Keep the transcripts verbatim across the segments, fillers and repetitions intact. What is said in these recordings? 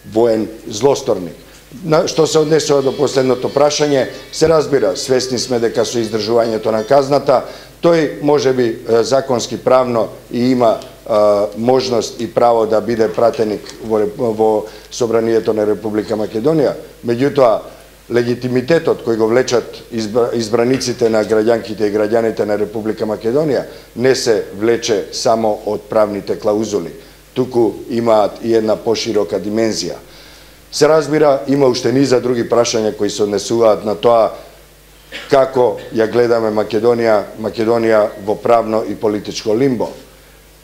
воен злосторник. Што се однесува до последното прашање, се разбира, свесни сме дека со издржувањето на казната, тој може би законски правно и има можност и право да биде пратеник во, во Собранието на Република Македонија. Меѓутоа, легитимитетот кој го влечат избраниците на граѓанките и граѓаните на Република Македонија не се влече само од правните клаузули, туку имаат и една поширока димензија. Се разбира, има уште низа други прашања кои се однесуваат на тоа како ја гледаме Македонија, Македонија во правно и политичко лимбо.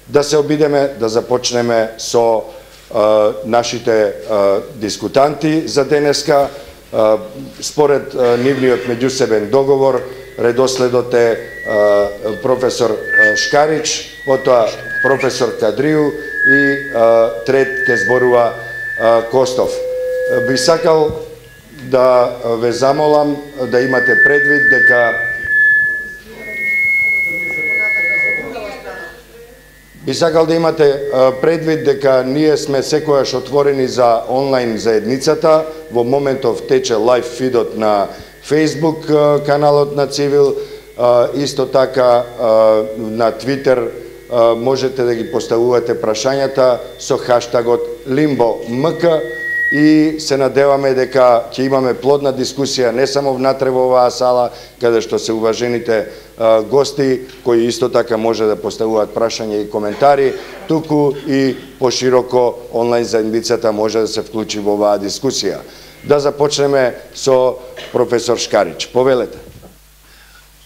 Да се обидеме да започнеме со а, нашите а, дискутанти за денеска. А, според а, нивниот меѓусебен договор, редоследот е а, професор а, Шкарич, потоа професор Кадрију и а, трет ке зборува а, Костов. Би сакал да ве замолам да имате предвид дека би сакал да имате предвид дека ние сме секојаш отворени за онлайн заедницата. Во моментов тече лайв фидот на Facebook каналот на Цивил, исто така на Твитер можете да ги поставувате прашањата со хаштагот LimboMK. И се надеваме дека ќе имаме плодна дискусија не само внатре во оваа сала, каде што се уважените а, гости, кои исто така може да поставуваат прашања и коментари, туку и пошироко онлайн заедницата може да се вклучи во оваа дискусија. Да започнеме со професор Шкарич. Повелете.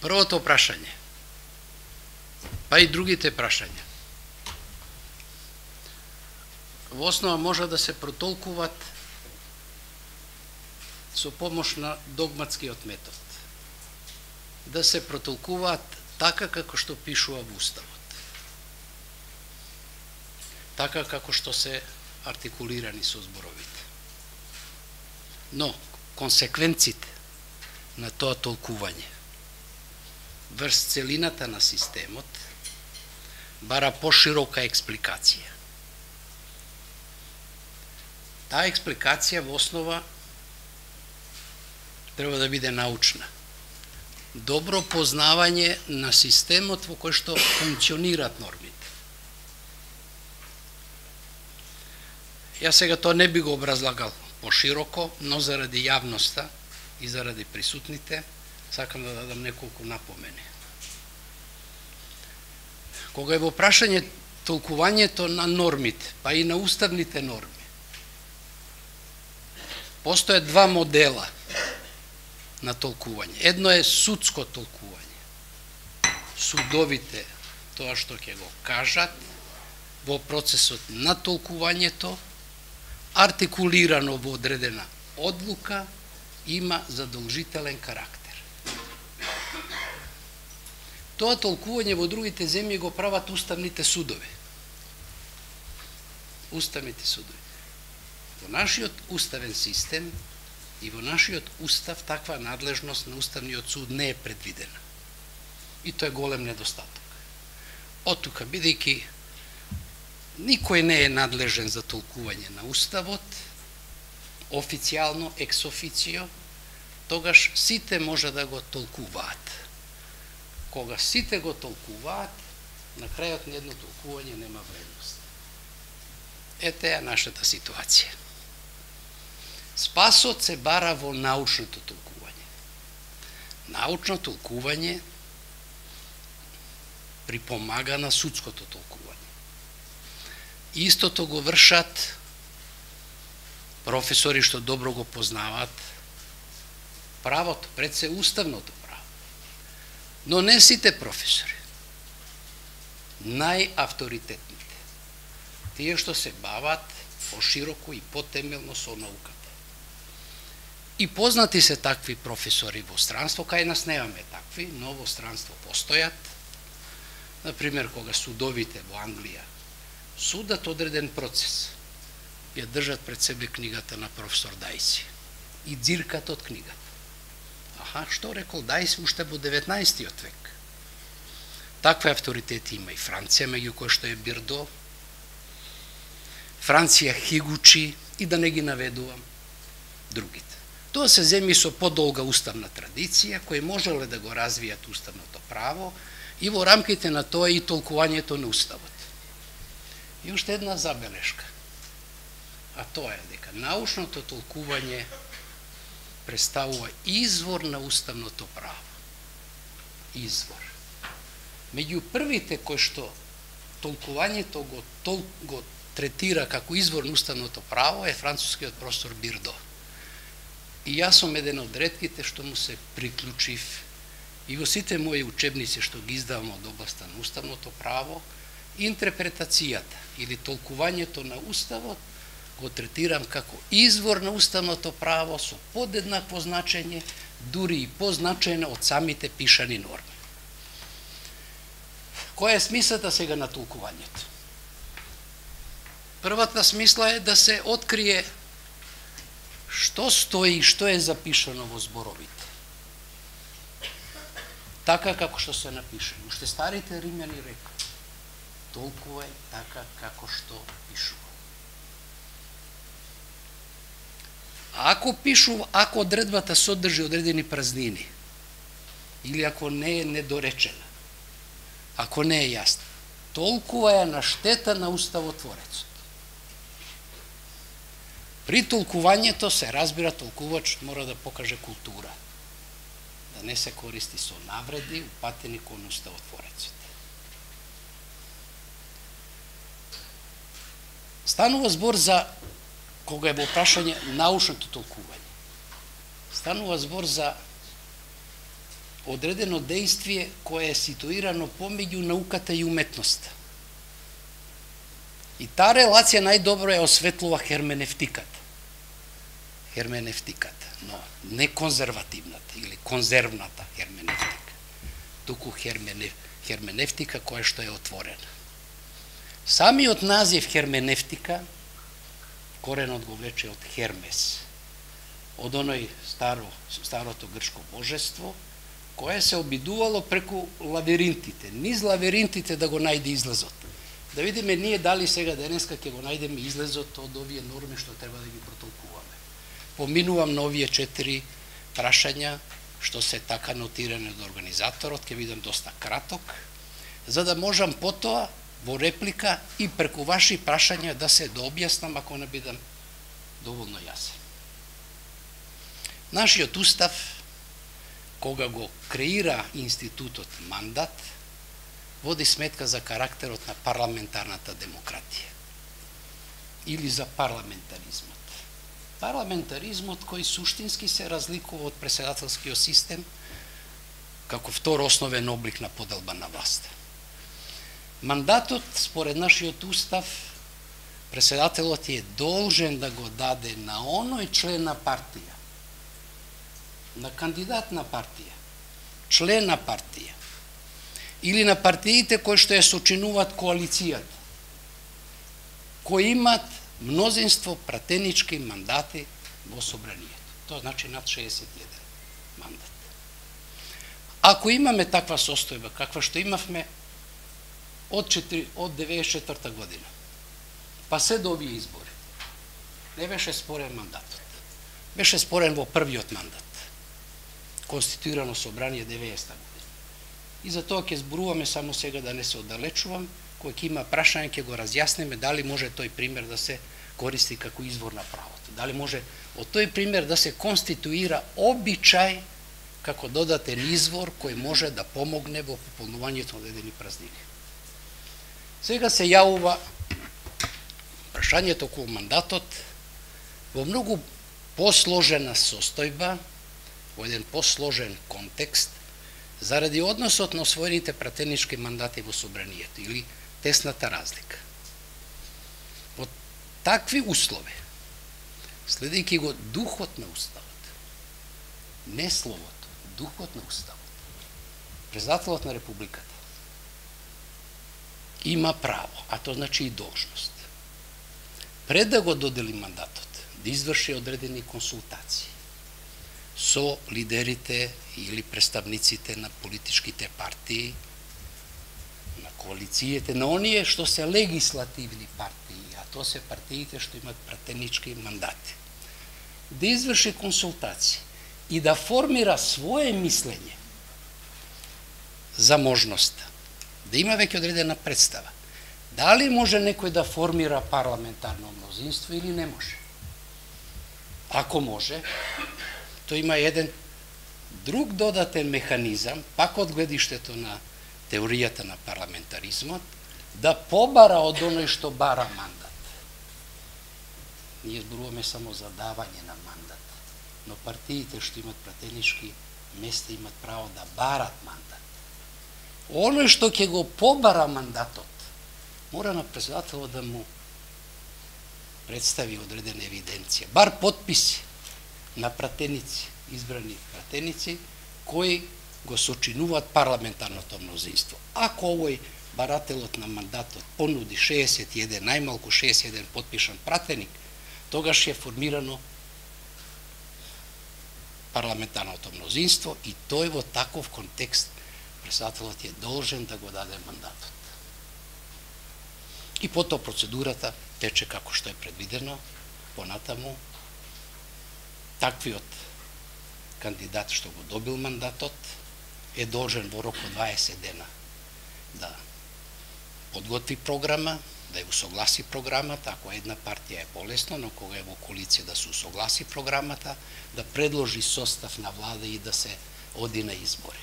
Првото прашање, па и другите прашања, во основа може да се протолкуваат со помош на догматскиот метод. Да се протолкуваат така како што пишува во Уставот. Така како што се артикулирани со зборовите. Но, консеквенците на тоа толкување врз целината на системот бара поширока експликација. Таа експликација во основа треба да биде научна. Добро познавање на системот во кој што функционираат нормите. Јас сега тоа не би го образлагал пошироко, но заради јавноста и заради присутните, сакам да дадам неколку напомени. Кога е во прашање толкувањето на нормите, па и на уставните норми, постојат два модела на толкување. Едно е судско толкување. Судовите тоа што ќе го кажат во процесот на толкувањето, артикулирано во одредена одлука, има задолжителен карактер. Тоа толкување во другите земји го прават уставните судови. Уставните судови. Во нашиот уставен систем и во нашиот устав таква надлежност на уставниот суд не е предвидена. И тоа е голем недостаток. Оттука, бидејќи никој не е надлежен за толкување на уставот, официјално, екс официо, тогаш сите може да го толкуваат. Кога сите го толкуваат, на крајот на едно толкување нема вредност. Ете е нашата ситуација. Спасот се бара во научното толкување. Научно толкување припомага на судското толкување. Истото го вршат професори што добро го познаваат правото, пред се уставното право. Но не сите професори. Најавторитетните. Тие што се бават пошироко и потемелно со науката. И познати се такви професори во странство, кај нас немаме такви, но во странство постојат. Например, кога судовите во Англија судат одреден процес, ја држат пред себе книгата на професор Дајси и дзиркат од книгата. Аха, што рекол Дајси уште во деветнаесеттиот век. Такви авторитети има и Франција, меѓу кои што е Бирдо. Франција, Хигучи и да не ги наведувам другите. Тоа се земји со подолга уставна традиција, кои можеле да го развијат уставното право и во рамките на тоа и толкувањето на уставот. И уште една забелешка, а тоа е дека научното толкување представува извор на уставното право. Извор. Меѓу првите кои што толкувањето го, тол, го третира како извор на уставното право е францускиот професор Бирдо. И јас сум еден од ретките што му се приклучив и во сите мои учебници што ги издавам од областа на уставното право, интерпретацијата или толкувањето на уставот го третирам како извор на уставното право со подеднакво значење, дури и позначајно од самите пишани норми. Која е смислата сега на толкувањето? Првата смисла е да се открие што стои и што е запишано во зборовите. Така како што се напишено. Уште старите римјани рекоа: толкувај така како што пишува. Ако пишува, ако одредбата содржи одредени празнини, или ако не е недоречена, ако не е јасна, толкувај на штета на уставотворецот. При толкувањето се разбира, толкувачот мора да покаже култура, да не се користи со навреди упатени кон уставотворецот. Станува збор за, кога е во прашање научното толкување, станува збор за одредено дејствие кое е ситуирано помеѓу науката и уметноста. И таа релација најдобро е осветлува херменевтиката. Херменевтиката, но не конзервативната или конзервната херменевтика, туку херменев, херменевтика која што е отворена. Самиот назив херменевтика, коренот го влече од Хермес, од оној старо, старото грчко божество, кое се обидувало преку лавиринтите, низ лавиринтите да го најде излезот. Да видиме ние дали сега денеска ќе го најдеме излезот од овие норми што треба да ги протолкуваме. Поминувам на овие четири прашања што се така нотирани од организаторот, ќе видам доста краток, за да можам потоа во реплика и преку ваши прашања да се дообјаснам ако не бидам доволно јасен. Нашиот устав, кога го креира институтот мандат, води сметка за карактерот на парламентарната демократија или за парламентаризмот. Парламентаризмот кој суштински се разликува од преседателскиот систем како втор основен облик на поделба на власт. Мандатот, според нашиот устав, преседателот е должен да го даде на оној член на партија, на кандидат на партија, член на партија, или на партиите кои што ја сочинуваат коалицијата, кои имат мнозинство пратенички мандати во собранието. Тоа значи над шеесет и еден мандат. Ако имаме таква состојба, каква што имавме од деветдесет и четврта година, па се до овие избори, не беше спорен мандатот. Беше спорен во првиот мандат, конституирано собрание деветдесета година. И за тоа ќе зборуваме само сега да не се оддалечувам, кој ќе има прашање ќе го разјасниме дали може тој пример да се користи како извор на правото. Дали може од тој пример да се конституира обичај како додатен извор кој може да помогне во пополнувањето на одредени празнини. Сега се јавува прашањето околу мандатот во многу посложена состојба, во еден посложен контекст, заради односот на освоените пратенички мандати во собранието или тесната разлика. Во такви услови, следејќи го духот на уставот, не словото, духот на уставот, председателот на републиката има право, а тоа значи и должност, пред да го додели мандатот, да изврши одредени консултации со лидерите или представниците на политичките партии, на коалициите, на оние што се легислативни партии, а тоа се партиите што имат пратенички мандати, да изврши консултации и да формира свое мислење за можноста, да има веќе одредена представа, дали може некој да формира парламентарно мнозинство или не може. Ако може, тоа има еден друг додатен механизам, пак од гледиштето на теоријата на парламентаризмот, да побара од оној што бара мандат. Ние зборуваме само за давање на мандат, но партиите што имат пратенички места имат право да барат мандат. Оној што ќе го побара мандатот, мора на председателот да му представи одредена евиденција, бар подписи на пратеници, избрани пратеници, кои го сочинуваат парламентарното мнозинство. Ако овој барателот на мандатот понуди шеесет и еден, најмалку шеесет и еден подпишан пратеник, тогаш е формирано парламентарното мнозинство и тој во таков контекст председателот е должен да го даде мандатот. И потоа процедурата тече како што е предвидено, понатаму таквиот кандидат што го добил мандатот е должен во рок од дваесет дена да подготви програма, да ја усогласи програмата, ако една партија е полесно, но кога е во коалиција да се усогласи програмата, да предложи состав на влада и да се оди на избори.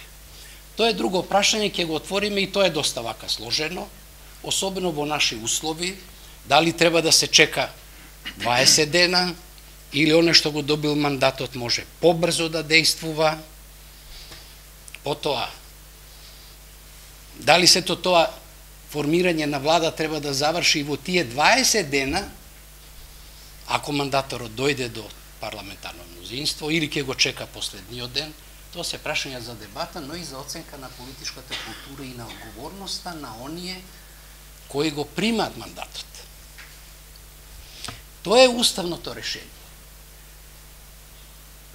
Тоа е друго прашање, ќе го отвориме и тоа е доста вака сложено, особено во наши услови, дали треба да се чека дваесет дена, или оне што го добил мандатот може побрзо да действува. Потоа, дали сето тоа формирање на влада треба да заврши во тие дваесет дена, ако мандаторот дојде до парламентарно мнозинство, или ќе го чека последниот ден, тоа се прашања за дебата, но и за оценка на политичката култура и на одговорноста на оние кои го примат мандатот. Тоа е уставното решение.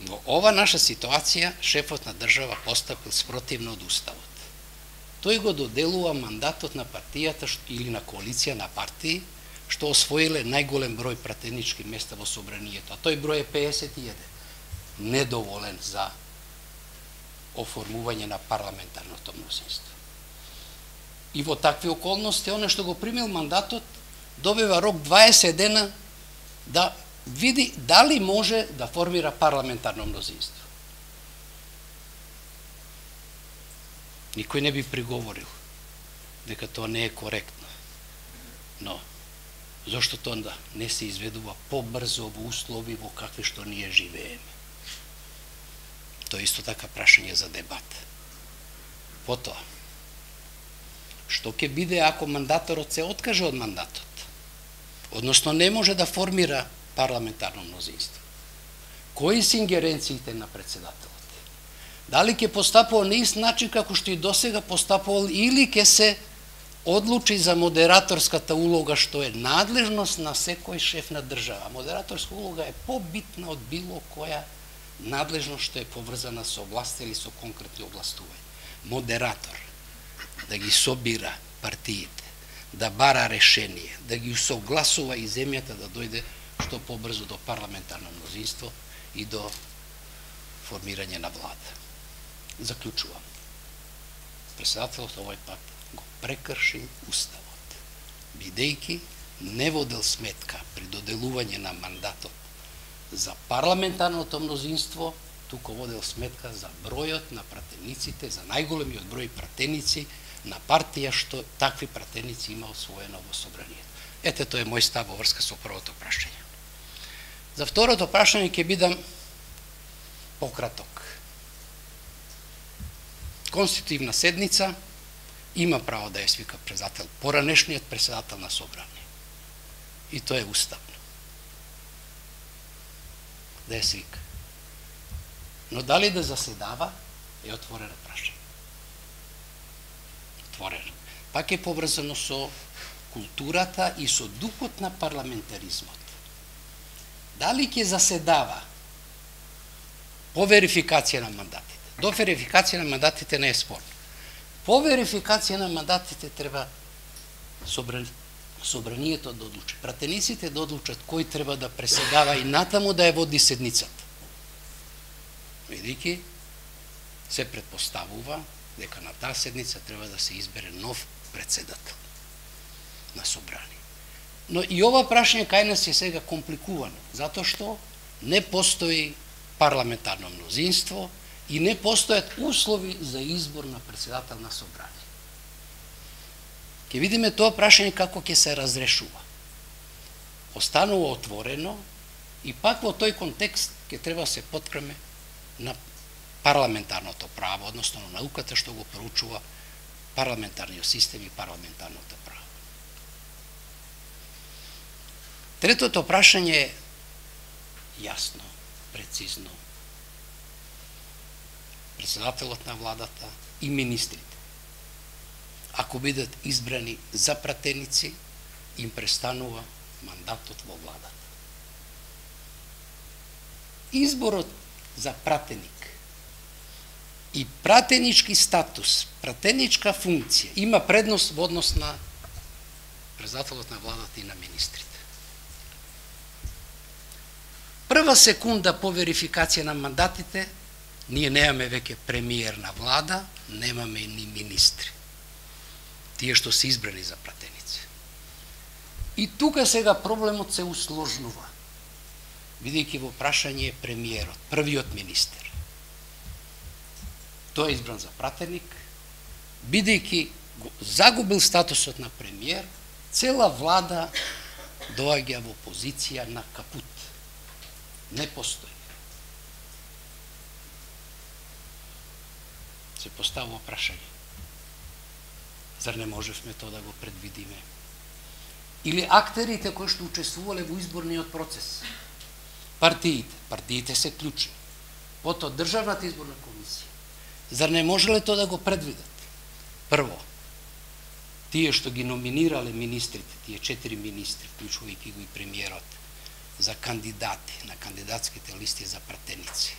Во ова наша ситуација, шефот на држава постапил спротивно од уставот. Тој го доделува мандатот на партијата или на коалиција на партии, што освоиле најголем број пратенички места во собранието, а тој број е пеесет и еден. Недоволен за оформување на парламентарното мнозинство. И во такви околности, оно што го примил мандатот, добива рок дваесет дена да види дали може да формира парламентарно мнозинство. Никој не би приговорил дека тоа не е коректно. Но, зошто тоа onda не се изведува побрзо во услови во какви што ние живееме? Тоа е исто така прашање за дебат. Потоа, што ќе биде ако мандаторот се откаже од мандатот? Односно не може да формира парламентарно мнозинство. Кои се ингеренциите на председателот? Дали ќе постапува на ист начин како што и досега постапувал или ќе се одлучи за модераторската улога што е надлежност на секој шеф на држава. Модераторска улога е побитна од било која надлежност што е поврзана со власт или со конкретни областувања. Модератор да ги собира партиите, да бара решение, да ги усогласува и земјата да дојде што побрзо до парламентарно мнозинство и до формирање на влада. Заклучувам. Председателот овој пат го прекрши уставот, бидејќи не водел сметка при доделување на мандатот за парламентарното мнозинство, туку водел сметка за бројот на пратениците, за најголемиот број пратеници на партија што такви пратеници има освоено во собранието. Ете, тоа е мој став во врска со првото прашање. За второто прашање ќе бидам пократок. Конститутивна седница има право да ја свика председател, поранешниот председател на собрание. И тоа е уставно. Да ја свика. Но дали да заседава е отворено прашање. Отворено. Пак е поврзано со културата и со духот на парламентаризмот. Дали ќе заседава по верификација на мандатите? До верификација на мандатите не е спорно. По верификација на мандатите треба собран... собранието да одлучи. Пратениците да одлучат кој треба да преседава и натаму да ја води седницата. Видики, се предпоставува дека на таа седница треба да се избере нов председател на собрание. Но и ова прашање кај нас е сега компликувано, затоа што не постои парламентарно мнозинство и не постојат услови за избор на председател на собрание. Ке видиме тоа прашање како ќе се разрешува. Останува отворено и пак во тој контекст ќе треба се поткреме на парламентарното право, односно на науката што го проучува парламентарниот систем и парламентарното право. Третото прашање е јасно, прецизно. Председателот на владата и министрите, ако бидат избрани за пратеници, им престанува мандатот во владата. Изборот за пратеник и пратенички статус, пратеничка функција има предност во однос на председателот на владата и на министрите. Прва секунда по верификација на мандатите, ние немаме веќе премиер на влада, немаме ни министри. Тие што се избрани за пратеници. И тука сега проблемот се усложнува, бидејќи во прашање е премиерот, првиот министер. Тој е избран за пратеник, бидејќи загубил статусот на премиер, цела влада доаѓа во позиција на капут. Не постои. Се поставува прашање. Зар не можевме тоа да го предвидиме? Или актерите кои што учествувале во изборниот процес? Партиите. Партиите се клучни. Потоа Државната изборна комисија. Зар не можеле тоа да го предвидат? Прво, тие што ги номинирале министрите, тие четири министри, вклучувајќи го и премиерот, за кандидати на кандидатските листи за пратеници,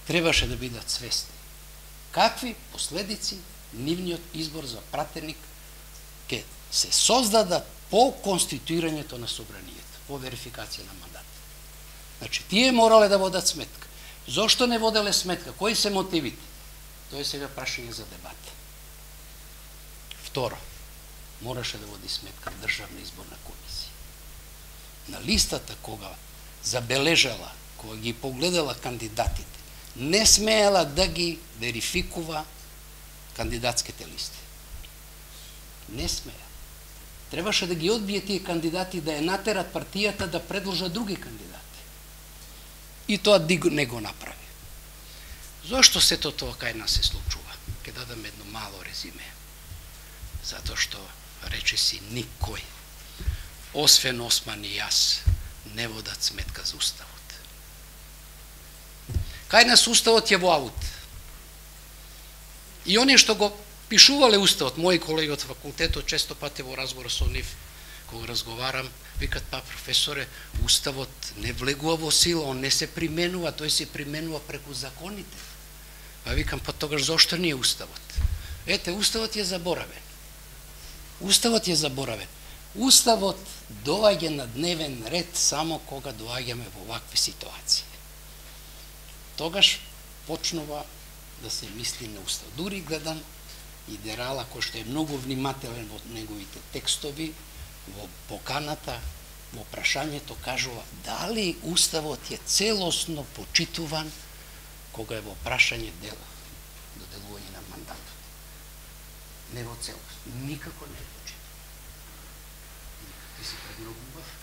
требаше да бидат свесни какви последици нивниот избор за пратеник ќе се создадат по конституирањето на собранието, по верификација на мандат. Значи, тие морале да водат сметка. Зошто не воделе сметка? Кои се мотивите? Тоа е сега прашање за дебата. Второ, мораше да води сметка Државна изборна комисија. На листата кога забележала, кога ги погледала кандидатите, не смеела да ги верификува кандидатските листи. Не смеја. Требаше да ги одбие тие кандидати, да ја натерат партијата да предложат други кандидати. И тоа не го направи. Зошто сето тоа кај нас се случува? Ке дадам едно мало резиме. Затоа што, рече си, никој, освен Осман и јас, не водат сметка за уставот. Кај нас уставот е во аут. И оние што го пишувале уставот, мои колеги од факултетот, често пати во разговор со нив, кога разговарам, викат, па професоре, уставот не влегува во сила, он не се применува, тој се применува преку законите. Па викам, па тогаш зошто не е уставот? Ете, уставот е заборавен. Уставот е заборавен. Уставот доаѓа на дневен ред само кога доаѓаме во вакви ситуации. Тогаш почнува да се мисли на устав. Дури гледам и Дерала, кој што е многу внимателен во неговите текстови, во поканата, во прашањето кажува дали уставот е целосно почитуван кога е во прашање дел, доделување на мандатот. Не во целост. Никако не е почитуван. Ти си премногу убав,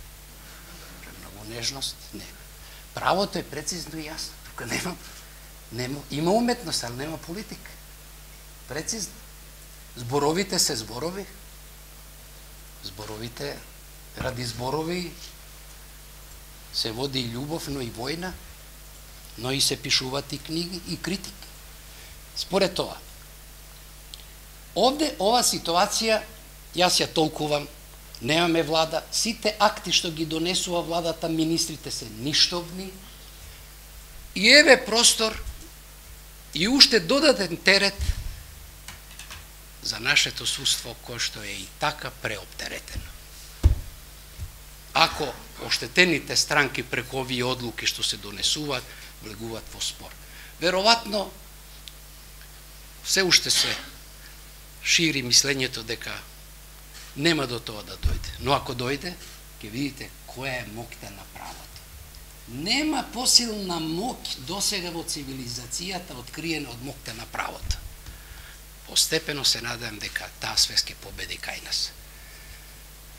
премногу нежност. Не. Правото е прецизно и јасно. Тука нема, нема, има уметност, али нема политика. Прецизно. Зборовите се зборови. Зборовите, ради зборови се води и љубов, но и војна, но и се пишуваат и книги и критики. Според тоа, овде ова ситуација, јас ја толкувам, немаме влада, сите акти што ги донесува владата, министрите се ништовни, и еве простор и уште додатен терет за нашето судство, кој што е и така преоптеретено. ако оштетените странки преку овие одлуки што се донесуваат, влегуваат во спор. Веројатно, се уште се шири мислењето дека нема до тоа да дојде. Но ако дојде, ќе видите која е моќта на правото. Нема посилна моќ досега во цивилизацијата откриена од моќта на правото. Постепено се надевам дека таа свест ќе победи кај нас.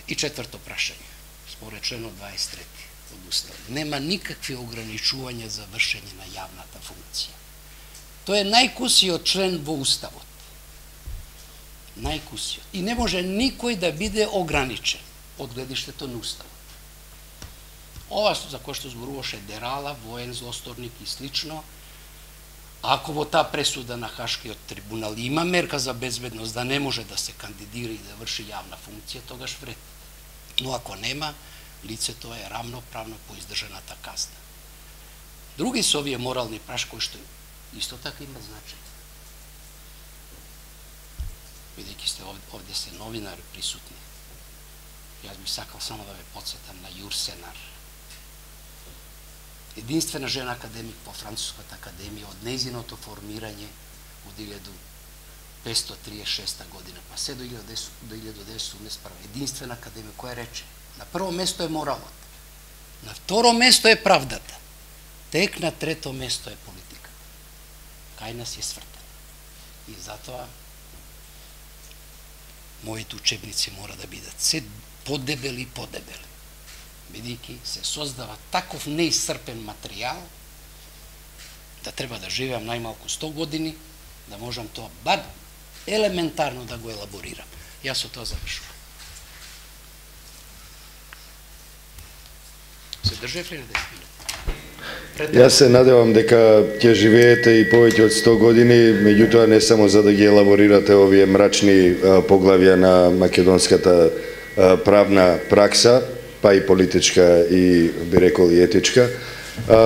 И четврто прашање, според членот дваесет и трети од Уставот, нема никакви ограничувања за вршење на јавната функција. Тој е најкусиот член во Уставот. Најкусиот. И не може никој да биде ограничен од гледиштето на Уставот. Ова за кој што зборуваше Дерала, воен злосторник и слично, ако во таа пресуда на Хашкиот трибунал има мерка за безбедност да не може да се кандидира и да врши јавна функција, тогаш вред. Но ако нема, лицето е рамноправно по издржаната казна. Други се овие морални праш кои што исто така има значање. Бидејќи сте овде, овде се новинари присутни, јас би сакал само да ве подсетам на Јурсенар. Единствена жена академик во Француската академија од нејзиното формирање од илјада петстотини триесет и шеста година, па се до илјада деветстотини осумдесет и прва. Единствена академија која рече, на прво место е моралот, на второ место е правдата, тек на трето место е политика. Кај нас е свртен. И затоа моите учебници мора да бидат се подебели и подебели, бидејќи се создава таков неисцрпен материјал да треба да живеам најмалку сто години, да можам тоа бар елементарно да го елаборирам. Јас со тоа завршувам. Се држев ли на десет минути? Јас се надевам дека ќе живеете и повеќе од сто години, меѓутоа не само за да ги елаборирате овие мрачни поглавја на македонската правна пракса, па и политичка и би рекол и етичка.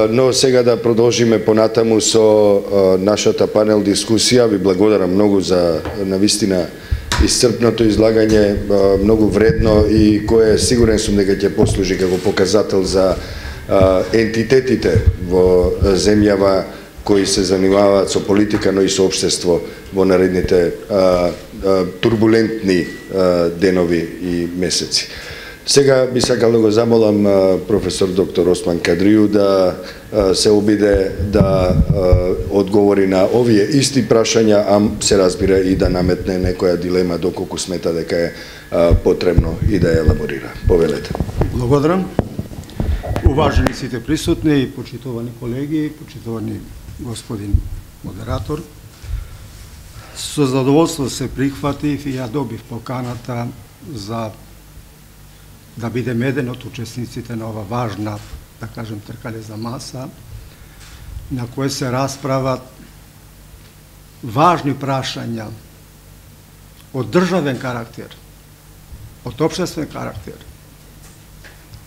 Но сега да продолжиме понатаму со нашата панел дискусија. Ви благодарам многу за навистина исцрпното излагање, многу вредно и кое сигурен сум дека ќе послужи како показател за ентитетите во земјава кои се занимаваат со политика, но и со општество во наредните турбулентни денови и месеци. Сега би сакал да го замолам професор доктор Осман Кадрију да се обиде да одговори на овие исти прашања, а се разбира и да наметне некоја дилема доколку смета дека е потребно и да ја елаборира. Повелете. Благодарам. Уважени сите присутни и почитувани колеги, почитувани господин модератор, со задоволство се прихватив и ја добив поканата за да бидем еден од учесниците на ова важна, да кажем, тркалезна маса, на која се расправат важни прашања од државен карактер, од општествен карактер,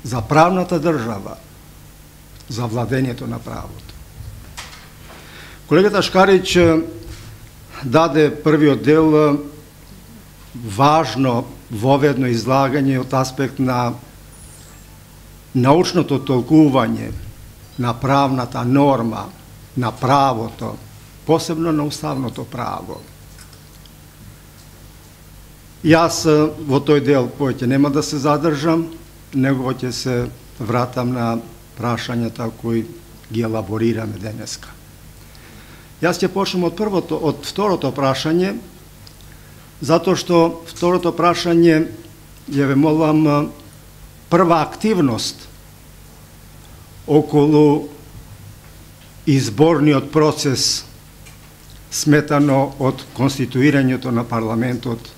за правната држава, за владењето на правото. Колегата Шкарич даде првиот дел важно воведно излагање од аспект на научното толкување на правната норма, на правото, посебно на уставното право. Јас во тој дел повеќе нема да се задржам, него ќе се вратам на прашањата кои ги елаборираме денеска. Јас ќе почнем од првото, од второто прашање, затоа што второто прашање ја ве молам прва активност околу изборниот процес сметано од конституирањето на парламентот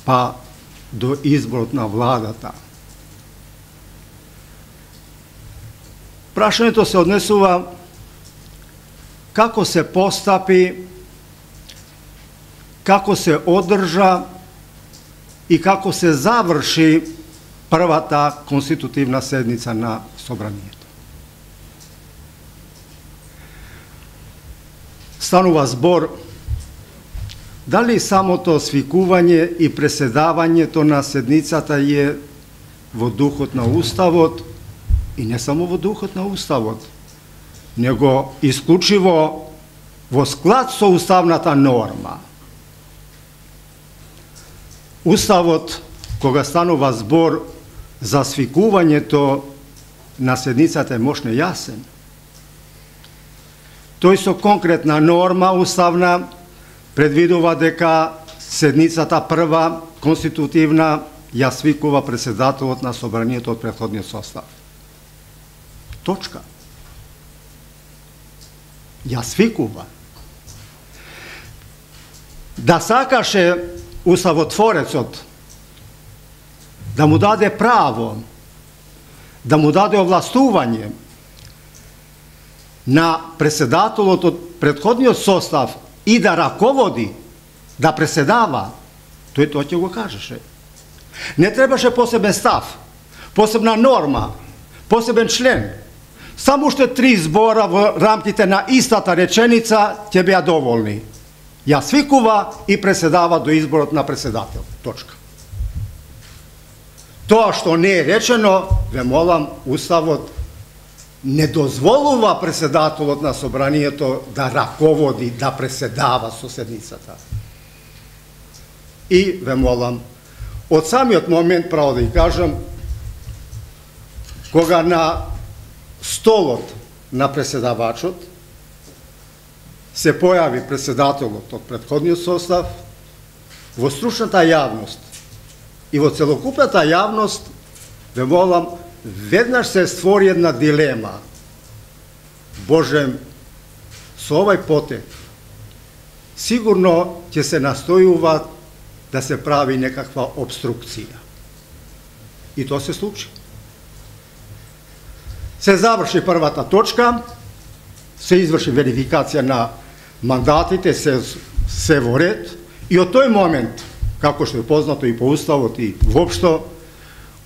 па до изборот на владата. Прашањето се однесува како се постапи, како се одржа и како се заврши првата конститутивна седница на Собранието. Станува збор дали самото свикување и преседавањето на седницата е во духот на Уставот и не само во духот на Уставот, него исклучиво во склад со уставната норма. Уставот, кога станува збор за свикувањето на седницата е мощно јасен. Тој со конкретна норма уставна предвидува дека седницата прва конститутивна ја свикува председателот на собранието од претходниот состав. Точка. Ја свикува. Да сакаше уставотворецот да му даде право, да му даде овластување на председателот од претходниот состав и да раководи, да преседава, тој тоа ќе го кажеше. Не требаше посебен став, посебна норма, посебен член. Само уште три збора во рамките на истата реченица ќе беа доволни. Ја свикува и преседава до изборот на председател. Точка. Тоа што не е речено, ве молам, Уставот не дозволува председателот на собранието да раководи, да преседава со седницата. И ве молам, од самиот момент, право да ја кажам, кога на столот на преседавачот се појави председателот од претходниот состав, во стручната јавност и во целокупната јавност, ве молам, веднаш се створи една дилема. Боже, со овај потек, сигурно ќе се настојува да се прави некаква обструкција. И тоа се случи. Се заврши првата точка, се изврши верификација на мандатите, се, се во ред, и од тој момент, како што е познато и по Уставот и воопшто,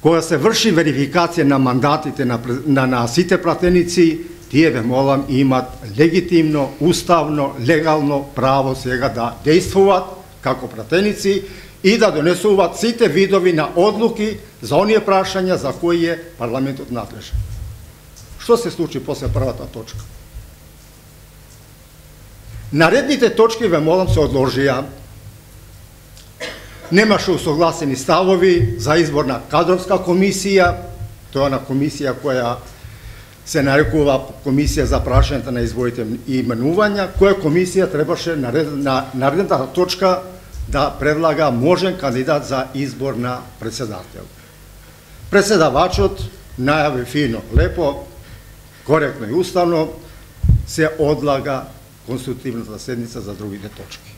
кога се врши верификација на мандатите на, на, на сите пратеници, тие, ве молам, имат легитимно, уставно, легално право сега да действуваат како пратеници и да донесуваат сите видови на одлуки за оние прашања за кои е парламентот надлежен. Што се случи после првата точка? Наредните точки, ве молам, се одложија. Немаше усогласени ставови за избор на кадровска комисија, тоа на комисија која се нарекува комисија за прашањата на изборите и именувања, која комисија требаше на наредната точка да предлага можен кандидат за избор на председател. Председавачот најави фино, лепо, коректно и уставно, се одлага конститутивната седница за другите точки.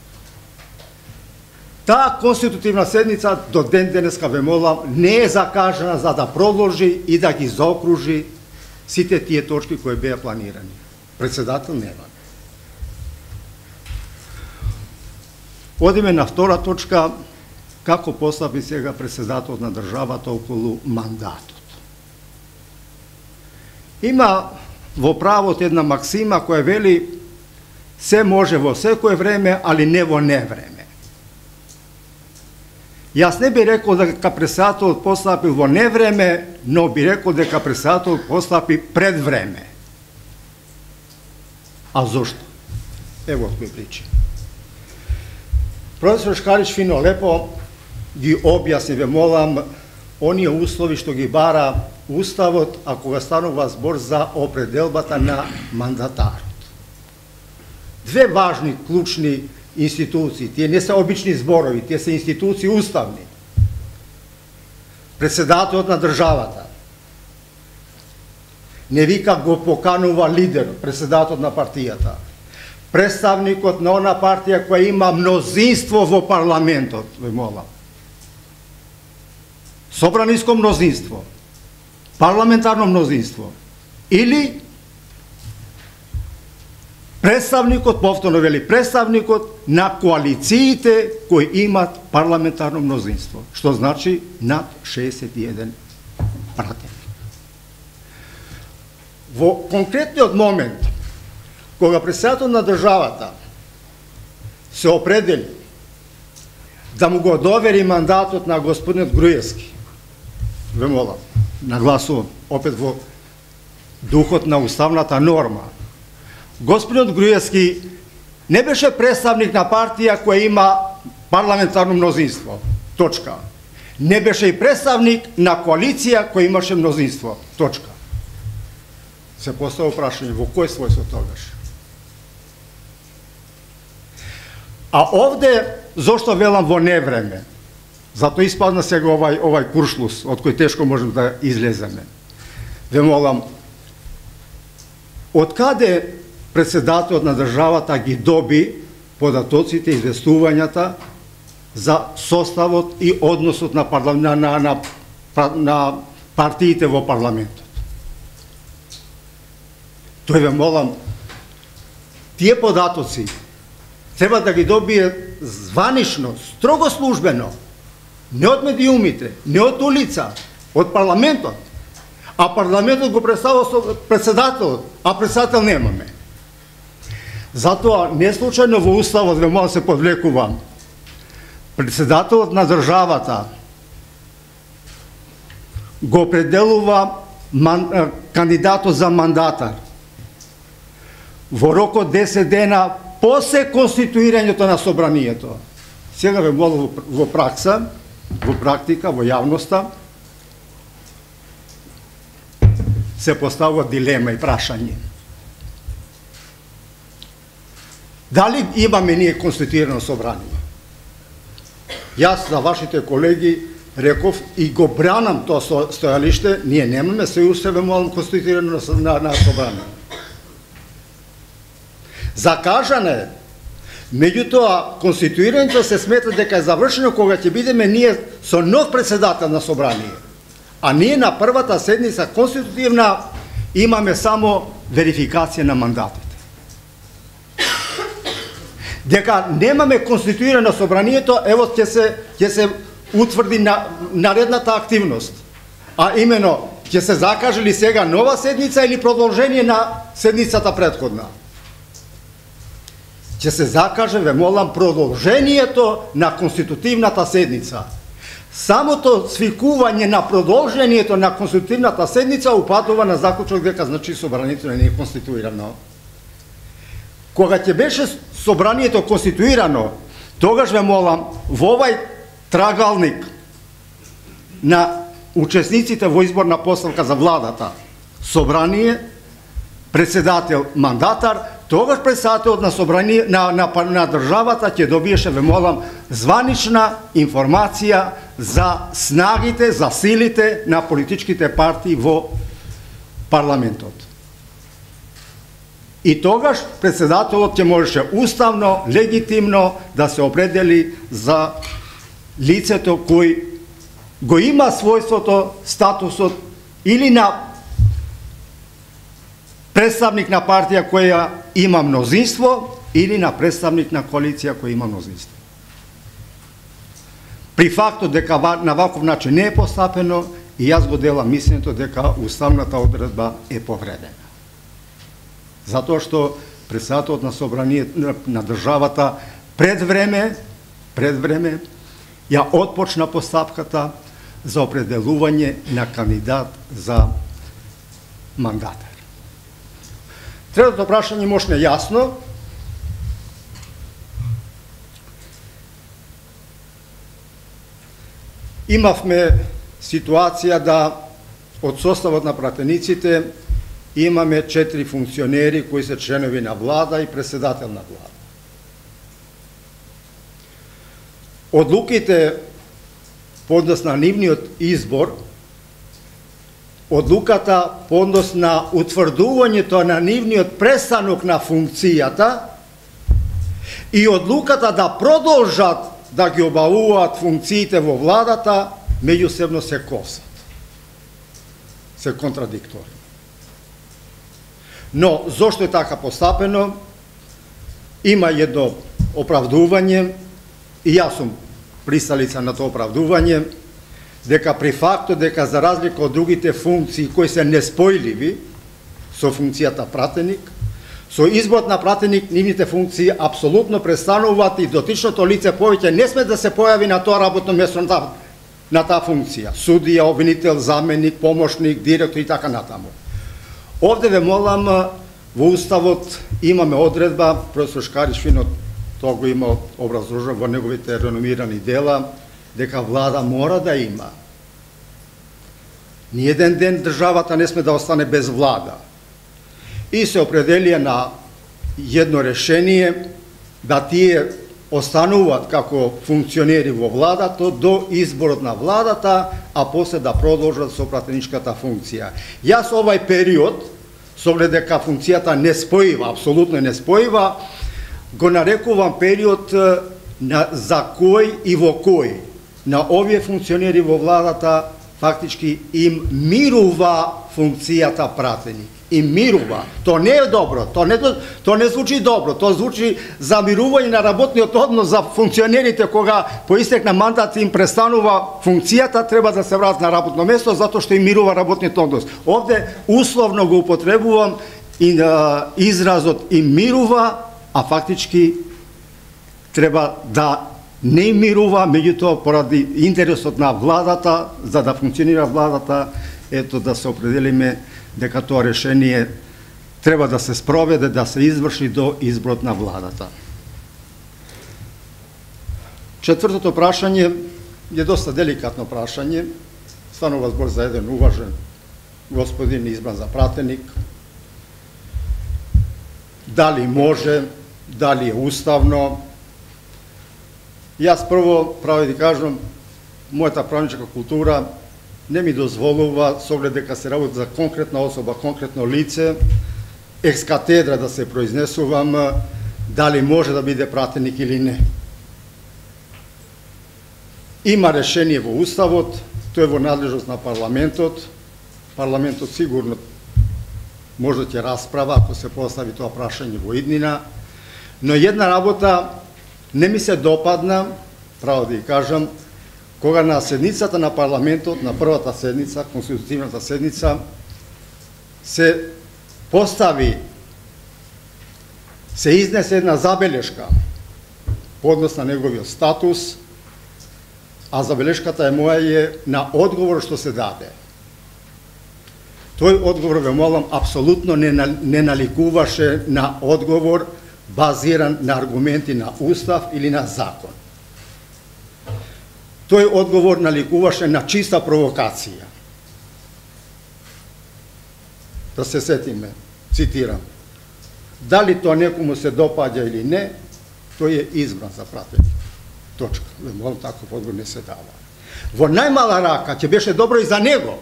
Таа конститутивна седница до ден денеска, ве молам, не е закажана за да продолжи и да ги заокружи сите тие точки кои беа планирани. Председател нема. Одиме на втора точка, како постапи сега председател на државата околу мандатот. Има во правот една максима која вели се може во секое време, али не во невреме. Јас не би рекол дека председателот постапи во невреме, но би рекол дека председателот постапи пред време. А зошто? Ево кој причи. Професор Шкарич фино лепо ги објасни, ве молам, оние услови што ги бара Уставот, а кога станува збор за определбата на мандатарот. Две важни, клучни институции, тие не се обични зборови, тие се институции уставни. Председателот на државата не вика го поканува лидерот, председателот на партијата, представникот на она партија која има мнозинство во парламентот, ве молам. Собраниско мнозинство, парламентарно мнозинство, или представникот, повторно вели, представникот на коалициите кои имат парламентарно мнозинство, што значи над шеесет и еден пратеник. Во конкретниот момент, кога председател на државата се определи да му го довери мандатот на господинот Груевски, ве молам, нагласувам, опет во духот на уставната норма. Господинот Груевски не беше представник на партија која има парламентарно мнозинство. Точка. Не беше и представник на коалиција која имаше мнозинство. Точка. Се поставува прашање, во кој својство тогаш? А овде, зошто велам во невреме? Зато испадна сега овај, овај куршлус, од кој тешко можем да излеземе. Ве молам, од каде председателот на државата ги доби податоците, известувањата за составот и односот на, на, на, на, на партиите во парламентот? Тој, ве молам, тие податоци треба да ги добие званично, строго службено, не од медиумите, не од улица, од парламентот. А парламентот го представува со председателот, а председател немаме. Затоа, не случајно во уставот, ве молам, се подвлекувам, председателот на државата го определува ман, кандидатот за мандатар во рок од десет дена после конституирањето на собранието. Сега ве молам во пракса, во практика, во јавноста, се поставува дилема и прашање. Дали имаме ние конституирано собрание? Јас за вашите колеги реков и го бранам тоа стојалиште, ние немаме, се уште ве молам конституирано на, на собрание. Закажане, меѓутоа конституирањето се смета дека е завршено кога ќе бидеме ние со нов председател на собрание. А ние на првата седница конститутивна имаме само верификација на мандатите. Дека немаме конституирано собранието, ево ќе се ќе се утврди на наредната активност. А имено ќе се закаже ли сега нова седница или продолжение на седницата претходна? Ќе се закаже, ве молам, продолжението на конститутивната седница. Самото свикување на продолжението на конститутивната седница упадува на заклучок дека значи собранието не е конституирано. Кога ќе беше собранието конституирано, тогаш ве молам, во овај трагалник на учесниците во изборна поставка за владата, собрание, председател, мандатар, тогаш председателот на собрание на, на, на државата ќе добиеше, ве молам, званична информација за снагите, за силите на политичките партии во парламентот. И тогаш председателот ќе можеше уставно, легитимно да се определи за лицето кој го има својството, статусот или на представник на партија која има мнозинство или на представник на коалиција која има мнозинство. При фактот дека на ваков начин не е постапено, и јас го делам мислењето дека уставната одредба е повредена. Затоа што председателот на собрание на државата пред време, пред време ја отпочна постапката за определување на кандидат за мандатар. Третото прашање мошне јасно. Имавме ситуација да од составот на пратениците имаме четири функционери кои се членови на влада и председател на влада. Одлуките по однос на нивниот избор, одлуката по однос на утврдувањето на нивниот престанок на функцијата и одлуката да продолжат да ги обавуваат функциите во владата, меѓусебно се косат. Се контрадикторни. Но, зошто е така постапено? Има едно оправдување, и јас сум присталица на тоа оправдување, дека при фактот дека за разлика од другите функции кои се неспојливи со функцијата пратеник, со изборот на пратеник нивните функции апсолутно престануваат и дотичното лице повеќе не сме да се појави на тоа работно место на таа функција. Судија, обвинител, заменик, помошник, директор и така натаму. Овде ве молам, во Уставот имаме одредба, професор Шкарич фино тоа го има образложено во неговите реномирани дела, дека влада мора да има. Ниеден ден државата не сме да остане без влада. И се определија на едно решение да тие остануваат како функционери во владата до изборот на владата, а после да продолжат со пратеничката функција. Јас овај период, со оглед дека функцијата не споива, апсолутно не споива, го нарекувам период на, за кој и во кој на овие функционери во владата фактички им мирува функцијата пратеник. Им мирува. То не е добро, то не, то не звучи добро, то звучи за мирување на работниот однос за функционерите кога по истек на мандат им престанува функцијата, треба да се вратат на работно место затоа што им мирува работниот однос. Овде условно го употребувам и на изразот им мирува, а фактички треба да не им мирува, меѓутоа поради интересот на владата, за да функционира владата, ето да се определиме дека тоа решение треба да се спроведе, да се изврши до изборот на владата. Четвртото прашање е доста деликатно прашање. Станува збор за еден уважен господин избран за пратеник. Дали може, дали е уставно? Јас прво право да кажам, мојата правничка култура не ми дозволува, со оглед дека се работи за конкретна особа, конкретно лице, екс катедра да се произнесувам дали може да биде пратеник или не. Има решение во Уставот, тоа е во надлежност на парламентот. Парламентот сигурно може да ќе расправа ако се постави тоа прашање во иднина, но една работа не ми се допадна, право да ја кажам, кога на седницата на парламентот, на првата седница, конститутивната седница, се постави, се изнесе една забелешка по однос на неговиот статус, а забелешката е моја е на одговор што се даде. Тој одговор, ве молам, апсолутно не, не наликуваше на одговор базиран на аргументи на Устав или на закон. Тој одговор наликуваше на чиста провокација. Да се сетиме, цитирам. Дали тоа некому се допаѓа или не, тој е избран за пратеник. Точка. Ве молам, таков одговор не се дава. Во најмала рака, ќе беше добро и за него,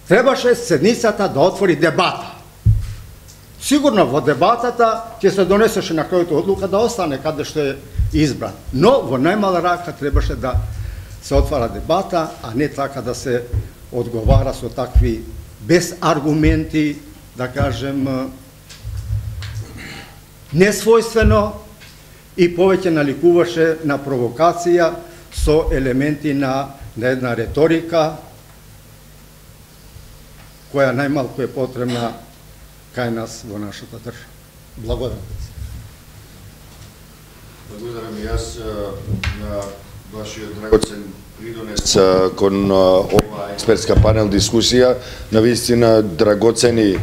требаше седницата да отвори дебата. Сигурно во дебатата ќе се донесеше на крајот одлука да остане каде што е избран. Но во најмала рака требаше да се отвара дебата, а не така да се одговара со такви без аргументи, да кажем, несвојствено и повеќе наликуваше на провокација со елементи на, на една реторика која најмалку е потребна кај нас во нашата држава. Благодарам. Благодарам и јас на вашиот драгоцен придонес кон ова експертска панел дискусија, на вистина драгоцени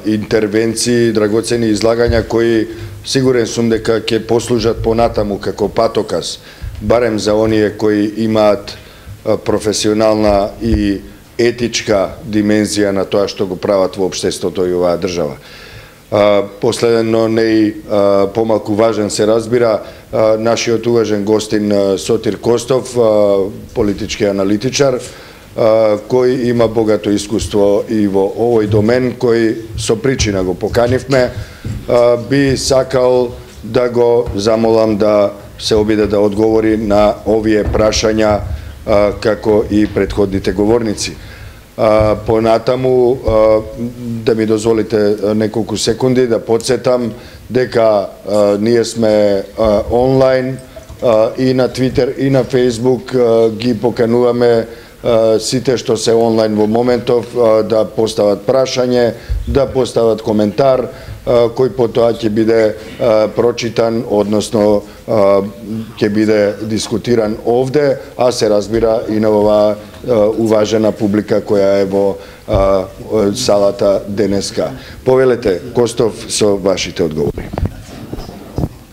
интервенции, драгоцени излагања кои сигурен сум дека ќе послужат понатаму како патоказ, барем за оние кои имаат професионална и етичка димензија на тоа што го прават во општеството и оваа држава. Последно, не и помалку важен се разбира, нашиот уважен гостин Сотир Костов, политички аналитичар, кој има богато искуство и во овој домен, кој со причина го поканивме, би сакал да го замолам да се обиде да одговори на овие прашања како и претходните говорници. Понатаму, да ми дозволите неколку секунди да подсетам дека ние сме онлайн и на Твитер и на Фейсбук, ги покануваме сите што се онлайн во моментов да постават прашање, да постават коментар кој потоа ќе биде прочитан, односно ќе биде дискутиран овде, а се разбира и на оваа уважена публика која е во салата денеска. Повелете, Костов, со вашите одговори.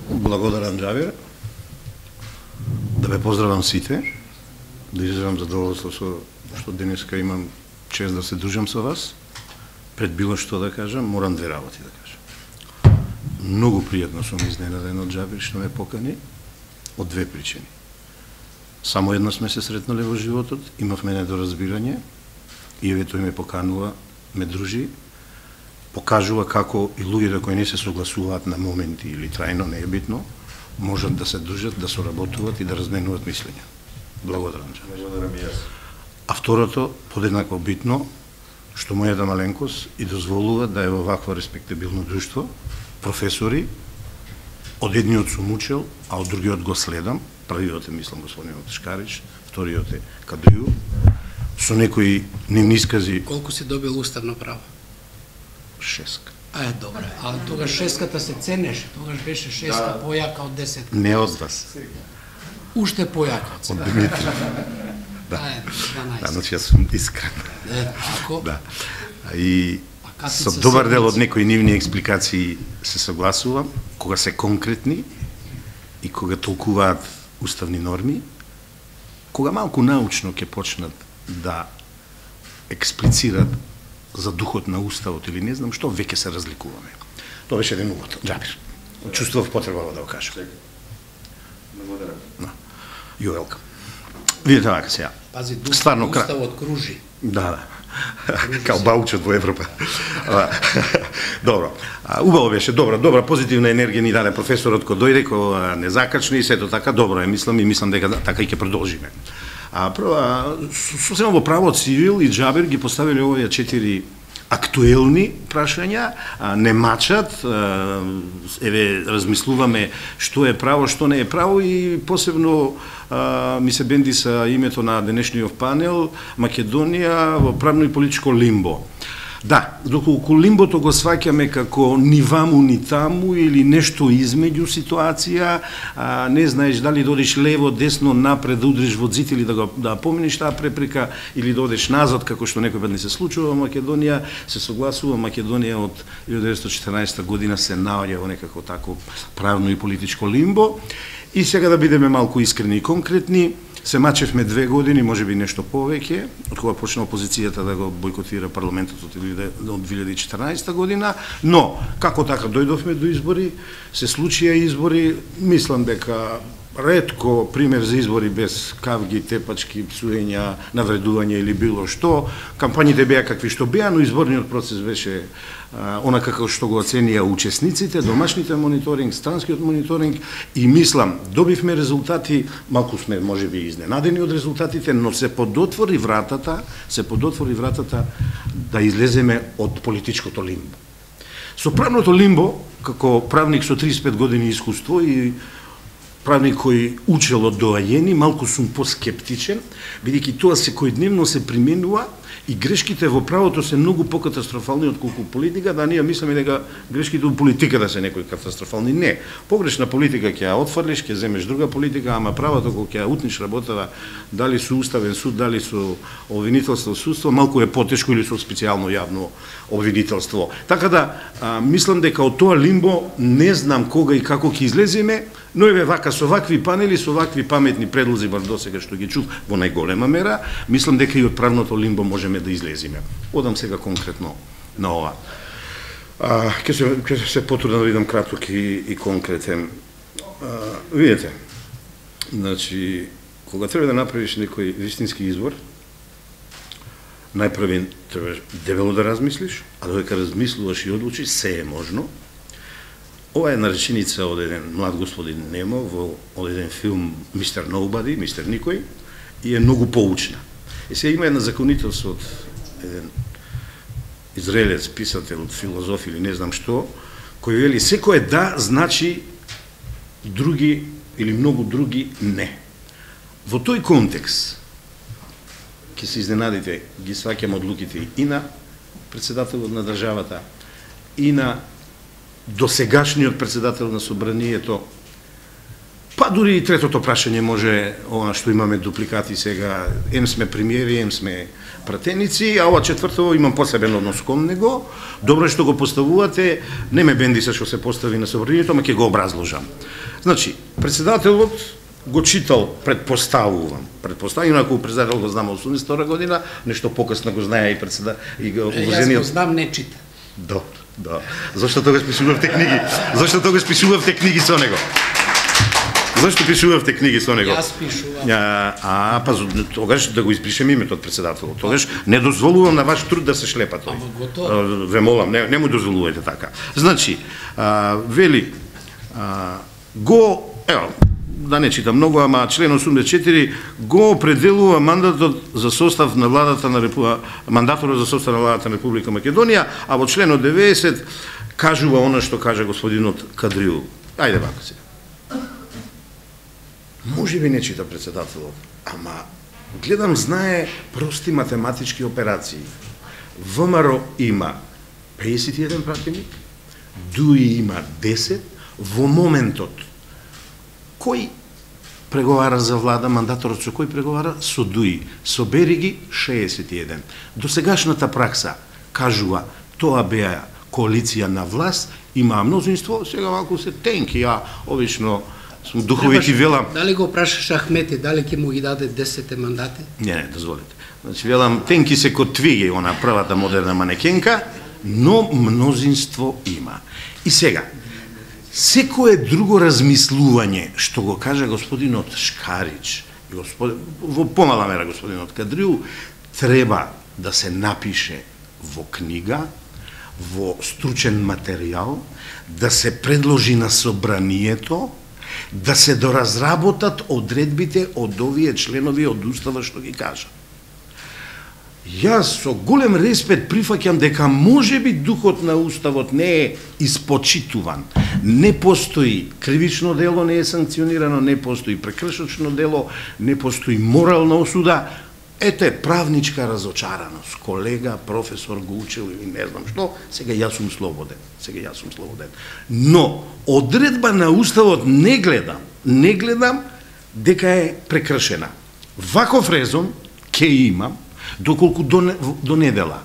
Благодарам, Џабир. Да ве поздравам сите, да изразам задоволство со што денеска имам чест да се дружам со вас. Пред било што да кажам, морам две работи да кажам. Многу пријатно сум изненаден од Џабир што ме покани, од две причини. Само едно сме се сретнале во животот, имавме недоразбирање, и еве тој ме поканува, ме дружи, покажува како и луѓето кои не се согласуваат на моменти или трајно, не е битно, можат да се дружат, да соработуваат и да разменуваат мислења. Благодарам. Благодарам и јас. А второто, подеднакво битно, што мојата маленкост и дозволува да е во вакво респектабилно друштво, професори, од едниот сум учел, а од другиот го следам, првиот е, мислам, господинот Шкарич, вториот е Кадрију, со некои нивни искази... Колку си добил уставно право? Шеска. А е, добре. А тогаш шеската се ценеше, тогаш беше шеска да. Појака од десет. Не од вас. Уште појака од сега. Од Димитри. Да. А е, дванаесет. Да, значи јас сум искрен. Е, ако? Да. И со добар дел од некои нивни експликации се согласувам, кога се конкретни и кога толкуваат уставни норми, кога малку научно ќе почнат да експлицират за духот на уставот или не знам што, веќе се разликуваме. Тоа беше еден увод. Џабир. Чувствував потреба да го кажам. Благодарам. No. You welcome. Видите вака сега. Пази, дух Стварно, на уставот кружи. Да, да. Као баучот во Европа. Добро. Убаво беше, добра, добра позитивна енергија ни даде професорот кој дојде, кој не закачни и сето така, добро е, мислам и мислам дека така и ќе продолжиме. А прва, сосема во правот Цивил и Џабир ги поставиле овие четири актуелни прашања, не мачат, еве размислуваме што е право, што не е право и посебно ми се бенди са името на денешниот панел Македонија во правно и политичко лимбо. Да, доколку лимбото го сваќаме како ни ваму ни таму или нешто измеѓу ситуација, а, не знаеш дали да одиш лево, десно, напред, да удриш во зид или да го да поминиш таа препрека или да одиш назад, како што некој пат не се случува во Македонија, се согласува Македонија од илјадесетстотини и четрнаесетта година се наоѓа во некако тако правно и политичко лимбо. И сега да бидеме малку искрени и конкретни, се мачевме две години, можеби нешто повеќе, од кога почна опозицијата да го бойкотира парламентот од две илјади и четрнаесетта година, но како така дојдовме до избори, се случија избори, мислам дека ретко пример за избори без кавги, тепачки, псуења, навредување или било што. Кампањите беа какви што беа, но изборниот процес беше а, она како што го оценија учесниците, домашните мониторинг, странскиот мониторинг и мислам, добивме резултати, малку сме можеби изненадени од резултатите, но се подотвори вратата, се подотвори вратата да излеземе од политичкото лимбо. Со правното лимбо, како правник со триесет и пет години искуство и правник кој учел од доаѓени, малку сум поскептичен, бидејќи тоа секојдневно се применува и грешките во правото се многу покатастрофални отколку политика, да ние мислиме дека грешките во политиката се некои катастрофални. Не. Погрешна политика ќе ја отфрлиш, ќе земеш друга политика, ама правото кога ќе ја утниш работава, дали со уставен суд, дали со обвинителство судство, малку е потешко или со специјално јавно обвинителство. Така да, а, мислам дека од тоа лимбо не знам кога и како ќе излеземе, но еве вака со вакви панели, со вакви паметни предлози бар досега што ги чув во најголема мера, мислам дека и од правното лимбо можеме да излеземе. Одам сега конкретно на ова. А, ке се ке се потрудам да видам краток и, и конкретен. А, видите. Значи, кога треба да направиш некој вистински избор, најпрви треба дебело да размислиш, а додека размислуваш и одлучиш, се е можно. Ова е нареченица од еден млад господин Немов во од еден филм мистер Nobody, мистер Никој, и е многу поучна. И сега има една законителство од еден израелец, писател, филозоф или не знам што, кој вели секој да значи други или многу други не. Во тој контекст ќе се изненадите, ги сваќам одлуките и на председателот на државата, и на досегашниот председател на собранието, па дури и третото прашање може, она што имаме дупликати сега, ем сме премиери, ем сме пратеници, а ова четврто имам посебен однос кон него. Добро е што го поставувате, не ме бенди се што се постави на собранието, ама ќе го образложам. Значи, председателот го читал, предпоставувам, предпоставувам, ако председател го знам осумдесет и втора година, нешто покасно го знае и председател и го уважениот. Јас го знам, не чита. Да, да. Зошто тогаш пишувавте книги? Зошто тогаш пишувавте книги со него? Зошто пишувавте книги со него? Јас пишувам. А, а па тогаш да го избришем името од председателот. Тогаш не дозволувам на ваш труд да се шлепа тој. Ама готово. Ве молам, не, не му дозволувајте така. Значи, а, вели, а, го, ево, да не читам многу, ама член осумдесет и четири го определува мандатот за состав на владата на Репу... мандаторот за состав на владата на Република Македонија, а во членот деветдесет кажува она што кажа господинот Кадриу. Ајде вака се. Може би не чита председателот, ама гледам знае прости математички операции. ВМРО има пеесет и еден пратеник, ДУИ има десет, во моментот кој преговара за влада, мандаторот со кој преговара? Со ДУИ. Собери ги шеесет и еден. До сегашната пракса кажува тоа беа коалиција на власт, има мнозинство, сега малку се тенки, а обично сум духовити велам. Дали го прашаш Ахмети, дали ќе му ги даде десет мандати? Не, не, дозволите. Значи велам тенки се код твиги, она првата модерна манекенка, но мнозинство има. И сега, секое друго размислување што го кажа господинот Шкарич, господин, во помала мера господинот Кадриу, треба да се напише во книга, во стручен материјал, да се предложи на собранието, да се доразработат одредбите од овие членови од Устава што ги кажа. Јас со голем респект прифаќам дека можеби духот на Уставот не е испочитуван. Не постои кривично дело, не е санкционирано, не постои прекршочно дело, не постои морална осуда. Ете, правничка разочараност. Колега, професор го учил или не знам што, сега јас сум слободен. Сега јас сум слободен. Но, одредба на Уставот не гледам, не гледам дека е прекршена. Ваков резон ке имам, доколку до, до недела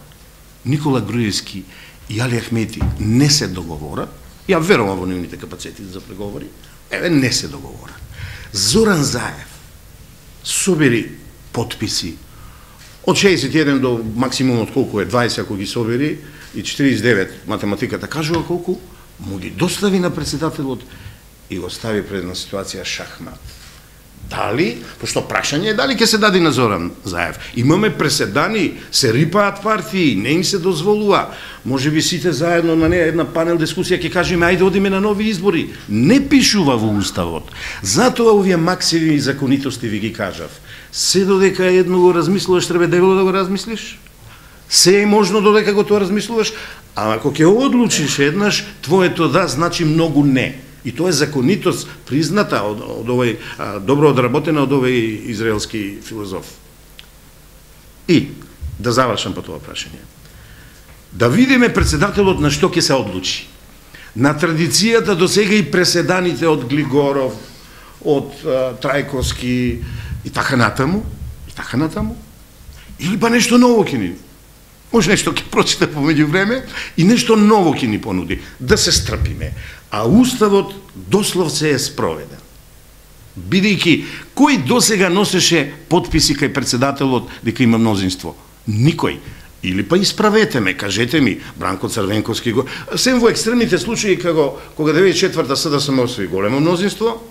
Никола Груевски и Али Ахмети не се договорат, ја верувам во нивните капацитети за преговори, еве не се договорат. Зоран Заев собери потписи од шеесет и еден до максимумот колку е дваесет, ако ги собери, и четириесет и девет математиката кажува колку, му ги достави на председателот и го стави пред една ситуација шахмат. Дали, пошто прашање е дали ќе се даде на Зоран Заев. Имаме преседани, се рипаат партии, не им се дозволува. Може би сите заедно на неја една панел дискусија ќе кажеме ајде одиме на нови избори. Не пишува во Уставот. Затоа овие максими и законитости ви ги кажав. Се додека едно го размислуваш, треба дебело да го размислиш. Се е можно додека го тоа размислуваш, а ако ќе одлучиш еднаш, твоето да значи многу не. И тоа е законитост призната од, од овој, а, добро одработена од овој израелски филозоф. И, да завршам по тоа прашање. Да видиме председателот на што ќе се одлучи. На традицијата до сега и преседаните од Глигоров, од а, Трајковски и така натаму, и така натаму, или па нешто ново ќе ни. Може нешто ќе прочита помеѓу време и нешто ново ќе ни понуди. Да се стрпиме. А Уставот дословце е спроведен. Бидејќи, кој досега носеше подписи кај председателот дека има мнозинство? Никој. Или па исправете ме, кажете ми, Бранко Црвенковски го... Сем во екстремните случаи, кога, кога деветдесет и четврта СДСМ освои големо мнозинство,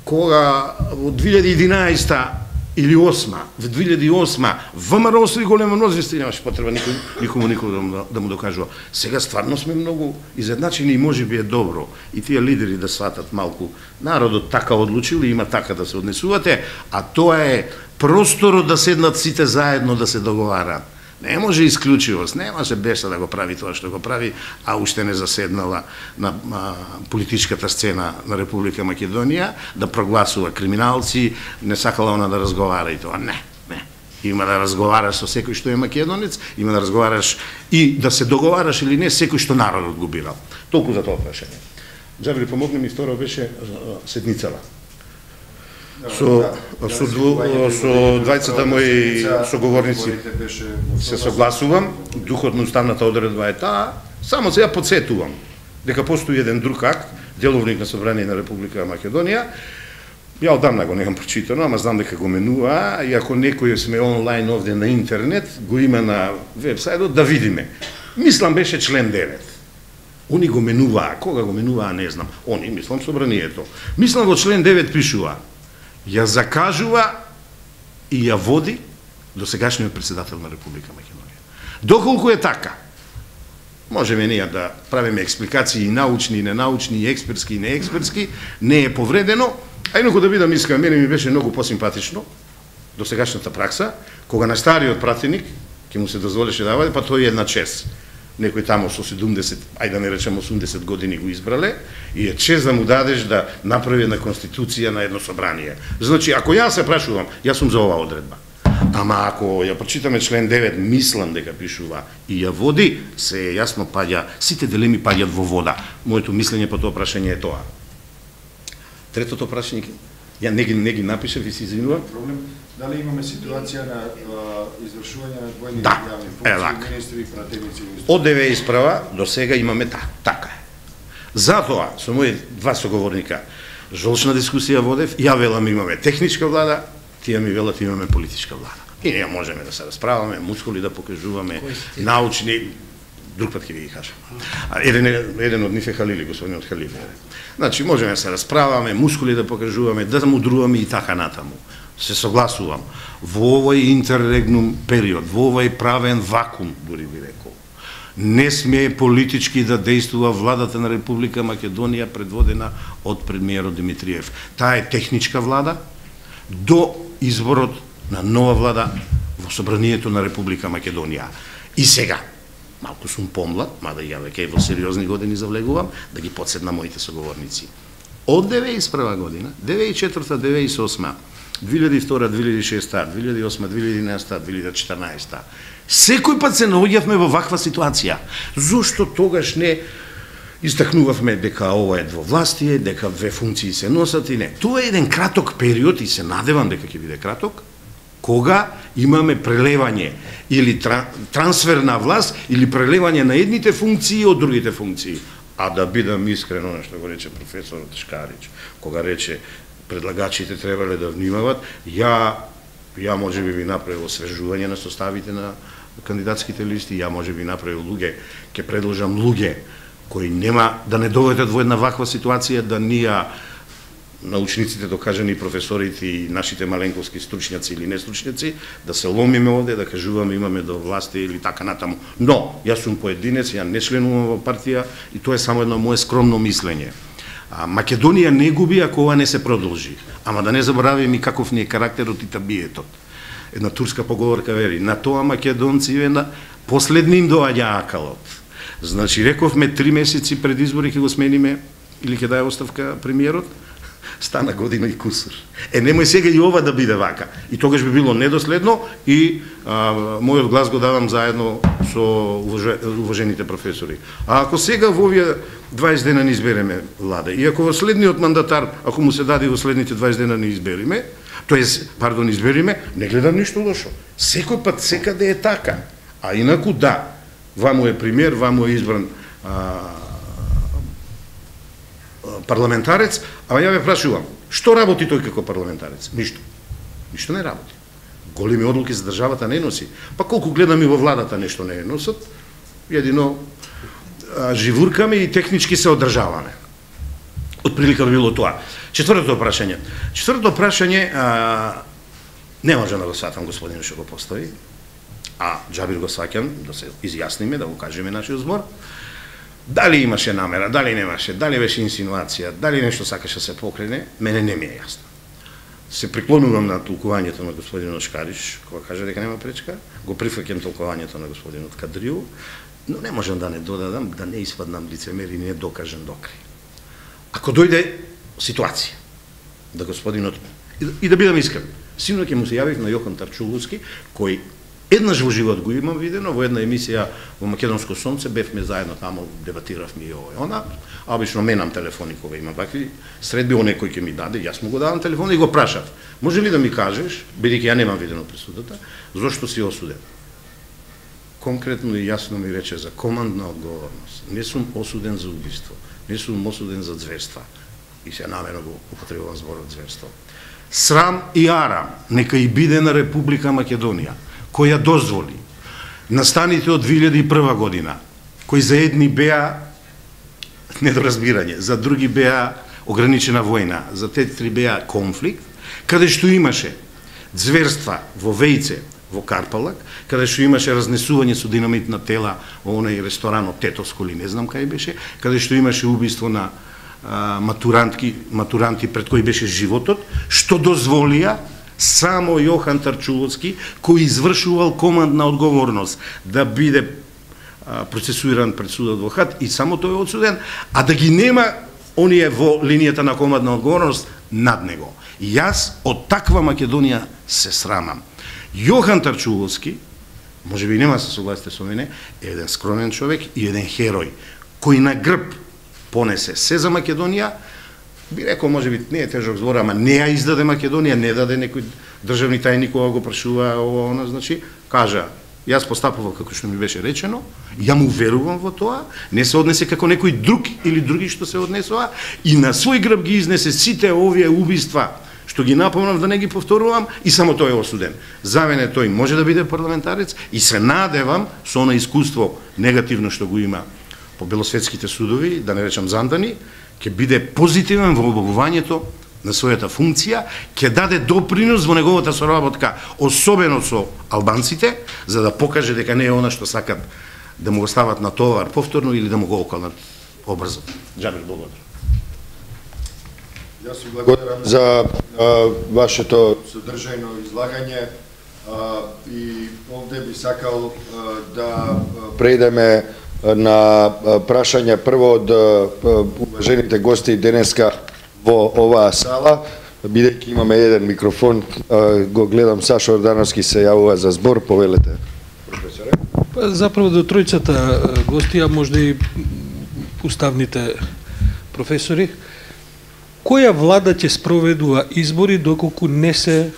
кога во две илјади и единаесета или осма, в две илјади и осма, ВМРО освои големо мнозинство, немаше потреба никој, никому никој да му, да му докажува. Сега стварно сме многу изедначени и може би е добро и тие лидери да сватат малку. Народот така одлучил и има така да се однесувате, а тоа е просторот да седнат сите заедно да се договараат. Не може исклучивост, не може Беша да го прави тоа што го прави, а уште не заседнала на а, политичката сцена на Република Македонија, да прогласува криминалци, не сакала она да разговара и тоа. Не, не. Има да разговараш со секој што е македонец, има да разговараш и да се договараш или не секој што народот го бирал. Толку за тоа прашање. Джабри, помогни ми, второ беше седницава. Со со со двајцата мои соговорници се согласувам, духот на уставната одредба е таа, само сега подсетувам дека постои еден друг акт, деловник на Собрание на Република Македонија. Ја одамна го немам прочитано, ама знам дека го менува, и ако некој сме онлайн овде на интернет, го има на вебсајтот, да видиме. Мислам беше член девет. Они го менуваа, кога го менуваа не знам. Они, мислам, Собранието. Мислам во член девет пишува: ја закажува и ја води досегашниот председател на Република Македонија. Доколку е така, можеме ние да правиме експликации и научни, и ненаучни, и експертски, и неекспертски, не е повредено. А инаку да бидам искрен, мене ми беше многу посимпатично досегашната пракса, кога на стариот пратеник ќе му се дозволеше да води, па тој е една чест. Некој таму со седумдесет, ајде да не речем осумдесет години го избрале, и е чест да му дадеш да направи една конституција на едно собрание. Значи, ако јас се прашувам, јас сум за оваа одредба. Ама ако ја прочитаме член девет, мислам дека пишува и ја води, се јасно паѓа, сите дилеми паѓаат во вода. Моето мислење по тоа прашање е тоа. Третото прашање, ја не ги, не ги напишав и се извинувам. Проблем, дали имаме ситуација на извршување на двојни Да, јавни функции, министри, пратеници? Од ДВ исправа до сега имаме та, така е. Затоа, со мои два соговорника, жолчна дискусија водев, ја велам имаме техничка влада, тие ми велат имаме политичка влада. И ние можеме да се расправаме, мускули да покажуваме, научни, друг пат ќе ви ги кажам. Еден, еден од нив е Халили, господинот Халили. Значи, можеме да се расправаме, мускули да покажуваме, да мудруваме и така натаму. Се согласувам. Во овој интеррегнум период, во овој правен вакуум, дури би рекол, не сме политички да действува владата на Република Македонија предводена од премиерот Димитриев. Таа е техничка влада до изборот на нова влада во Собранието на Република Македонија. И сега, малку сум помлад, мада ја веќе во сериозни години завлегувам, да ги подседна моите соговорници. Од девет и прва година, девет и четврта, девет и осма, две илјади и втора, две илјади и шеста, две илјади и осма, две илјади и единаесета, две илјади и четрнаесета, секој пат се наоѓавме во ваква ситуација. Зошто тогаш не истакнувавме дека ова е двовластие, дека две функции се носат и не. Тоа е еден краток период и се надевам дека ќе биде краток, кога имаме прелевање или трансфер на власт или прелевање на едните функции од другите функции. А да бидам искрен, оно што го рече професорот Шкарич, кога рече предлагачите требале да внимават, ја ја може би би направил освежување на составите на кандидатските листи, ја може би направил луѓе, ќе предложам луѓе кои нема да не доведат во една ваква ситуација, да ние научниците, докажани професорите и нашите маленковски стручњаци или нестручњаци, да се ломиме овде, да кажуваме имаме до власти или така натаму. Но, јас сум поединец, ја не членувам во партија и тоа е само едно мое скромно мислење. А, Македонија не губи ако ова не се продолжи. Ама да не забораваме и каков ни е карактерот и табиетот. Една турска поговорка вели, на тоа македонци на последни им доаѓа акалот. Значи, рековме три месеци пред избори ќе го смениме или ќе даде оставка премиерот, стана година и кусур. Е, немој сега и ова да биде вака. И тогаш би било недоследно и а, мојот глас го давам заедно со уважените професори. А ако сега во овие дваесет дена не избереме влада, и ако во следниот мандатар, ако му се даде во следните дваесет дена не избериме, тоест, пардон, избериме, не гледам ништо лошо. Секој пат секаде е така. А инаку да, ваму е премиер, ваму е избран а, парламентарец, а ја ве прашувам, што работи тој како парламентарец? Ништо. Ништо не работи. Големи одлуки за државата не носи. Па колку гледам и во владата нешто не носат, едино а, живуркаме и технички се одржаваме. Отприлика било тоа. Четвртото прашање. Четвртото прашање а, не може да го сватам господин што го постои, а Джабир го сваќам, да се изјасниме, да го кажеме нашиот збор. Дали имаше намера, дали немаше, дали беше инсинуација, дали нешто сакаше да се покрене, мене не ми е јасно. Се приклонувам на толкувањето на господинот Шкариш, кога каже дека нема пречка, го прифаќам толкувањето на господинот Кадрiju, но не можам да не додадам, да не испаднам лицемер и не докажем докрај. Ако дојде ситуација, да господинот, и да бидам искрен, Синоќ му се јавив на Јохан Тарчуловски, кој еднаш во живот го имам видено, во една емисија во Македонско сонце, бевме заедно тамо, дебатиравме и ова и она, а обично менам телефони кога имам вакви средби, оне кој ќе ми даде, јас му го давам телефон и го прашав. Може ли да ми кажеш, бидејќи ја немам видено пресудата, зошто си осуден? Конкретно и јасно ми рече за командна одговорност. Не сум осуден за убиство, не сум осуден за зверства. И се намерно го употребувам зборот зверство. Срам и арам нека и биде на Република Македонија, која дозволи настаните од две илјади и прва година, кои за едни беа недоразбирање, за други беа ограничена војна, за трети беа конфликт, каде што имаше зверства во Вејце, во Карпалак, каде што имаше разнесување со динамитна тела во оној ресторанот Тетовско или не знам кај беше, каде што имаше убиство на а, матурантки, матуранти пред кои беше животот, што дозволија само Јохан Тарчуловски, кој извршувал командна одговорност да биде а, процесуиран пред судот во Хаг и само тој е одсуден, а да ги нема оние во линијата на командна одговорност над него. И јас од таква Македонија се срамам. Јохан Тарчуловски, може би нема се согласите со мене, е еден скромен човек и еден херој, кој на грб понесе се за Македонија, би рекол, може би не е тежок збор, ама не ја издаде Македонија, не даде некој државни тајник кога го прашува ова, она, значи, кажа, јас постапував како што ми беше речено, ја му верувам во тоа, не се однесе како некој друг или други што се однесува, и на свој грб ги изнесе сите овие убиства, што ги напомнам да не ги повторувам, и само тој е осуден. За мене тој може да биде парламентарец и се надевам со она искуство негативно што го има по белосветските судови, да не речам Зандани, ќе биде позитивен во обавувањето на својата функција, ќе даде допринос во неговата соработка, особено со албанците, за да покаже дека не е она што сакат да му го стават на товар повторно или да му го околнат обрзо. Џабир, благодарам. Јас ви благодарам за а, вашето содржајно излагање а, и овде би сакал а, да преидеме на прашања прво од уважените гости денеска во оваа сала, бидејќи имаме еден микрофон, го гледам Сашо Ордановски се јавува за збор, повелете. Професоре. Заправо до тројцата гости, а можда и уставните професори, која влада ќе спроведува избори доколку не се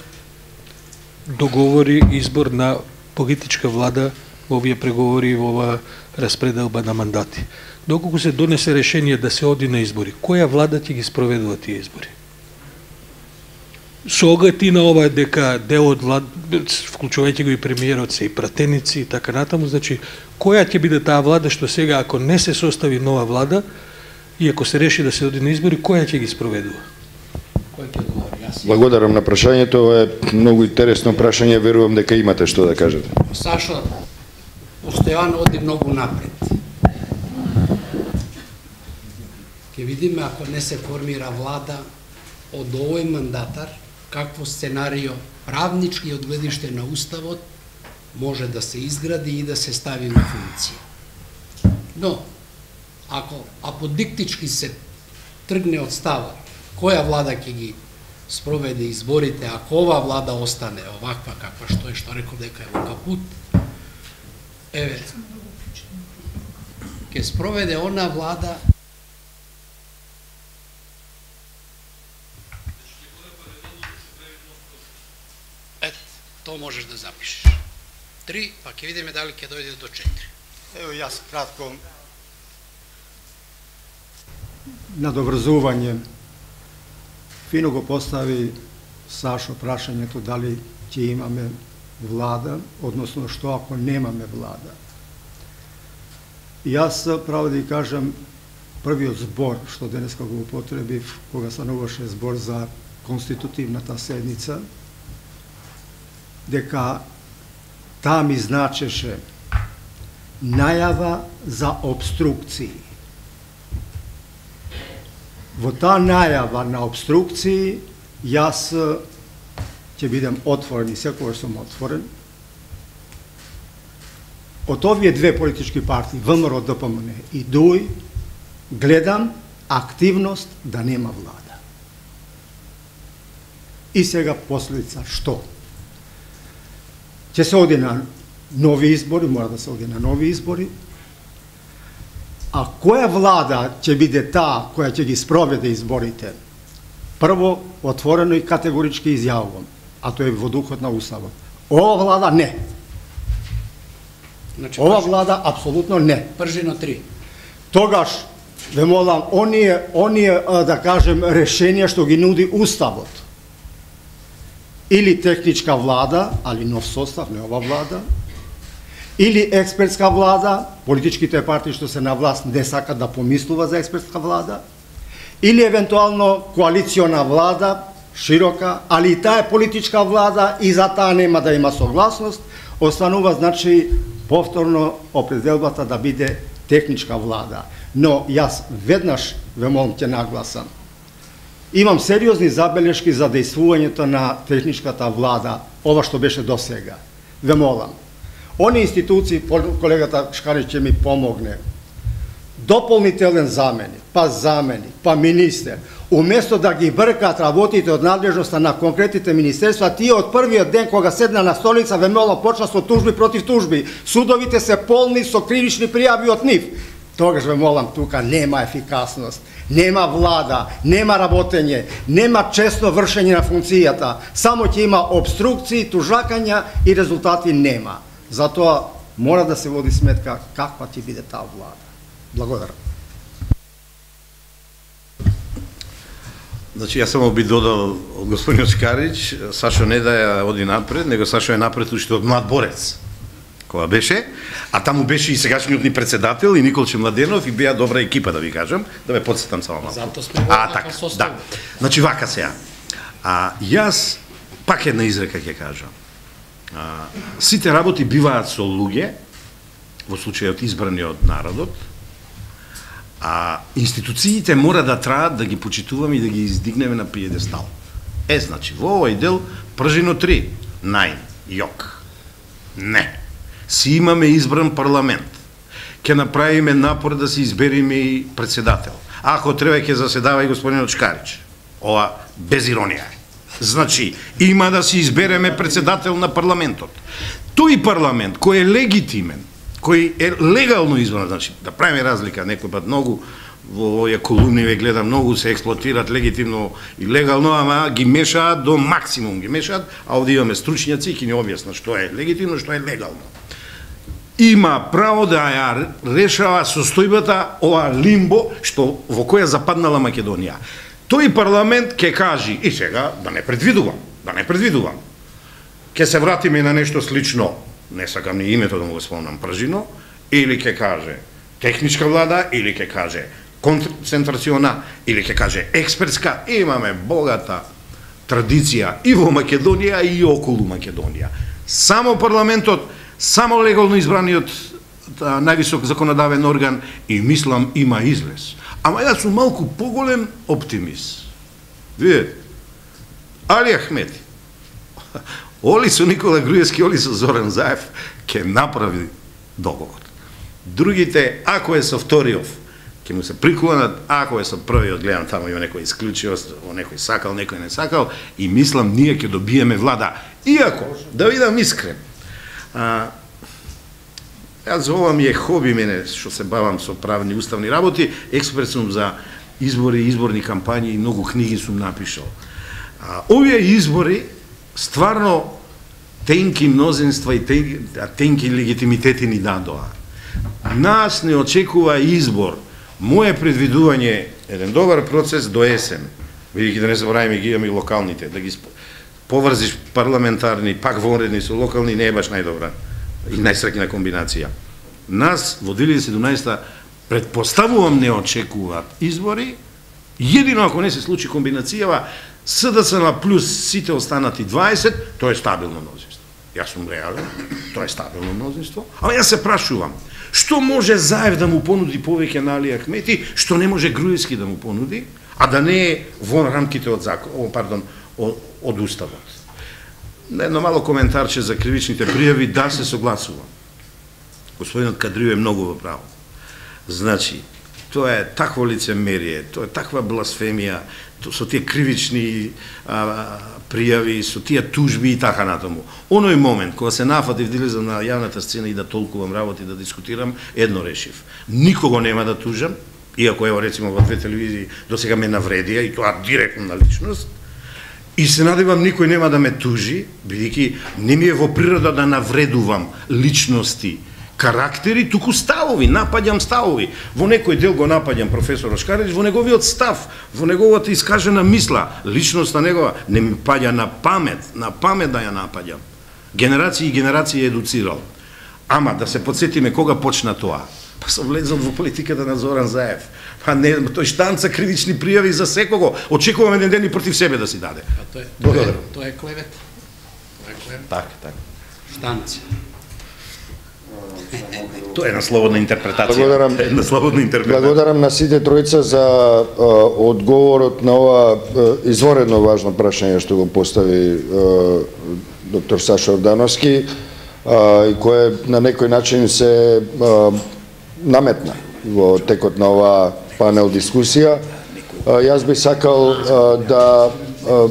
договори избор на политичка влада во овие преговори и во ова распределба на мандати? Доколку се донесе решение да се оди на избори, која влада ќе ги спроведува тие избори? Со оглед и на ова дека дел од влад, вклучувајќи го и премиерот, се и пратеници и така натаму, значи, која ќе биде таа влада што сега, ако не се состави нова влада, и ако се реши да се оди на избори, која ќе ги спроведува? Кој ќе говори? Јас. Благодарам на прашањето, ова е многу интересно прашање, верувам дека имате што да кажете. Сашо, постојано оди многу напред. Ке видиме ако не се формира влада од овој мандатар, какво сценарио правнички од гледиште на Уставот може да се изгради и да се стави на функција. Но, ако аподиктички се тргне од става, која влада ќе ги спроведе изборите, ако ова влада остане оваква каква што е, што рекол дека е во капут, еве, ќе спроведе она влада ет, то можеш да запишеш. Три, па ќе видиме дали ќе дојде до четири. Ево јас кратко надобрзување. Фино го постави Сашо прашањето дали ќе имаме влада, односно што ако немаме влада. Јас право да ја кажам, првиот збор што денеска го употребив, кога стануваше збор за конститутивната седница, дека таа ми значеше најава за обструкции. Во таа најава на обструкции, јас ќе бидем отворен и секогаш сум отворен. Од овие две политички партии, ВМРО, ДПМН и ДУИ, гледам активност да нема влада. И сега последица што? Ќе се оди на нови избори, мора да се оди на нови избори. А која влада ќе биде таа која ќе ги спроведе изборите? Прво, отворено и категорички изјавувам, а тоа е во духот на Уставот. Ова влада не. Значи, Ова пржи, влада апсолутно не. пржино три. Тогаш, ве молам, оние, оние, да кажем, решенија што ги нуди Уставот, или техничка влада, али нов состав, не ова влада, или експертска влада, политичките партии што се на власт не сакат да помислува за експертска влада, или евентуално коалициона влада, широка, али и таа е политичка влада и за таа нема да има согласност, останува, значи, повторно определбата да биде техничка влада. Но јас веднаш, ве молам, ќе нагласам, имам сериозни забелешки за дејствувањето на техничката влада, ова што беше до сега. Ве молам, они институции, колегата Шкарич ќе ми помогне, дополнителен заменик, па заменик, па министер, уместо да ги бркаат работите од надлежноста на конкретните министерства, тие од првиот ден кога седна на столица, ве молам, почна со тужби против тужби. Судовите се полни со кривични пријави од нив. Тогаш ве молам, тука нема ефикасност, нема влада, нема работење, нема честно вршење на функцијата, само ќе има обструкции, тужакања и резултати нема. Затоа мора да се води сметка каква ќе биде таа влада. Благодарам. Значи, јас само би додал од господин Шкарич, Сашо не да ја оди напред, него Сашо е напред уште од млад борец, кога беше, а таму беше и сегашниот ни председател и Николче Младенов и беа добра екипа, да ви кажам, да ме подсетам само малку. Зато сме а, во така, состав. да. Значи, вака сега. А, јас пак една изрека ќе кажам. А, сите работи биваат со луѓе, во случајот избрани од народот, а институциите мора да траат да ги почитуваме и да ги издигнеме на пиедестал. Е, значи, во овој дел, пржино три, најм, јок. Не. Си имаме избран парламент. Ке направиме напор да се избериме и председател. Ако треба, ќе заседава и господинот Шкарич. Ова без иронија. Значи, има да се избереме председател на парламентот. Тој парламент кој е легитимен, кој е легално избран, значи, да правиме разлика, некој пат многу во овие колумни ве гледам, многу се експлоатират легитимно и легално, ама ги мешаат до максимум, ги мешаат, а овде имаме стручњаци и ќе ни објаснат што е легитимно, што е легално. Има право да ја решава состојбата ова лимбо што во која западнала Македонија. Тој парламент ќе кажи, и сега да не предвидувам, да не предвидувам. Ќе се вратиме на нешто слично, не сакам ни името да му го спомнам, пржино, или ќе каже техничка влада, или ќе каже концентрациона, или ќе каже експертска. Имаме богата традиција и во Македонија и околу Македонија. Само парламентот, само легално избраниот највисок законодавен орган и мислам има излез. Ама јас сум малку поголем оптимист. Видете, Али Ахмети, Оли со Никола Груевски, Оли со Зоран Заев, ќе направи договор. Другите, ако е со вториот, ќе му се приклонат, ако е со првиот, гледам таму има некој исклучивост, некој сакал, некој не сакал, и мислам ние ќе добиеме влада. Иако, да видам искрен, а, јас ова ми е хоби мене, што се бавам со правни уставни работи, експерт сум за избори, изборни кампањи и многу книги сум напишал. А, овие избори стварно тенки мнозинства и тенки, тенки легитимитети ни дадоа. Нас не очекува избор. Моje предвидување еден добар процес до есен. Видите да не забораваме ги имаме и локалните, да ги поврзиш парламентарни, пак вонредни со локални не е баш најдобра и најсреќна комбинација. Нас во две илјади и седумнаесета предпоставувам не очекуваат избори, едино ако не се случи комбинацијава СДСМ плюс сите останати дваесет, тоа е стабилно мнозинство. Јас сум реален, тоа е стабилно мнозинство. Ама јас се прашувам, што може Заев да му понуди повеќе на Али Ахмети, што не може Груевски да му понуди, а да не е во рамките од закон, пардон, од, од уставот. Едно мало коментарче за кривичните пријави, да се согласувам. Господинот Кадрио е многу во право. Значи, Тоа е такво лицемерие, тоа е таква бласфемија, со тие кривични а, пријави, со тие тужби и така натаму. Оној момент кога се нафатив да излезам на јавната сцена и да толкувам работи, да дискутирам, едно решив. Никого нема да тужам, иако ево рецимо во две телевизии до сега ме навредија и тоа директно на личност. И се надевам никој нема да ме тужи, бидејќи не ми е во природа да навредувам личности, карактери, туку ставови, напаѓам ставови. Во некој дел го напаѓам професор Ошкарич, во неговиот став, во неговата искажена мисла, личноста негова не ми паѓа на памет, на памет да ја напаѓам. Генерации и генерации едуцирал. Ама да се подсетиме кога почна тоа. Па сум влезал во политиката на Зоран Заев. Па не, тој штанца кривични пријави за секого. Очекувам еден ден и против себе да си даде. А тоа е, тоа е, тоа е клевет. Тоа е клевет. Така, така. Штанца. Тоа е на слободна интерпретација. Благодарам. На слободна интерпретација. Благодарам на сите тројца за а, одговорот на ова а, изворедно важно прашање што го постави а, доктор Сашо Ордановски а, и кое на некој начин се а, наметна во текот на оваа панел дискусија. А, јас би сакал а, да а,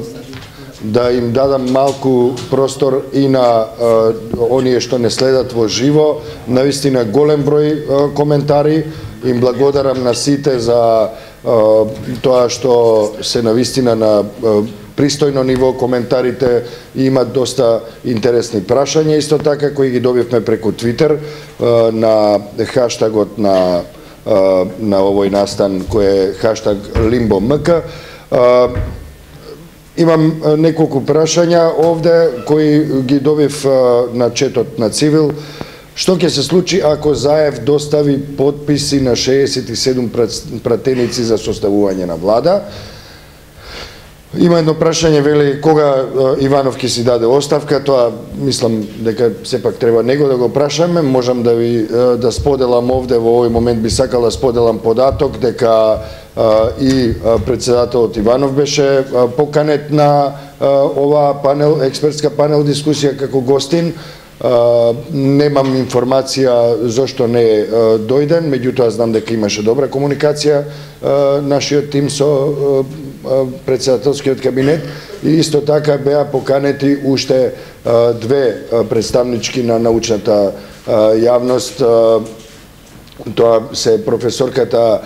да им дадам малку простор и на а, оние што не следат во живо, навистина голем број а, коментари. Им благодарам на сите за а, тоа што се навистина на а, пристојно ниво коментарите и имат доста интересни прашања, исто така кои ги добивме преку Твитер а, на хаштагот на а, на овој настан кој е хаштаг LimboMK. А, Имам неколку прашања овде кои ги добив на четот на Цивил. Што ќе се случи ако Заев достави потписи на шеесет и седум пратеници за составување на влада? Има едно прашање, вели, кога Иванов ќе си даде оставка, тоа мислам дека сепак треба него да го прашаме. Можам да ви да споделам овде во овој момент, би сакал да споделам податок дека и председателот Иванов беше поканет на оваа панел, експертска панел дискусија како гостин. Немам информација зошто не е дојден, меѓутоа знам дека имаше добра комуникација нашиот тим со председателскиот кабинет и исто така беа поканети уште две представнички на научната јавност. Тоа се професорката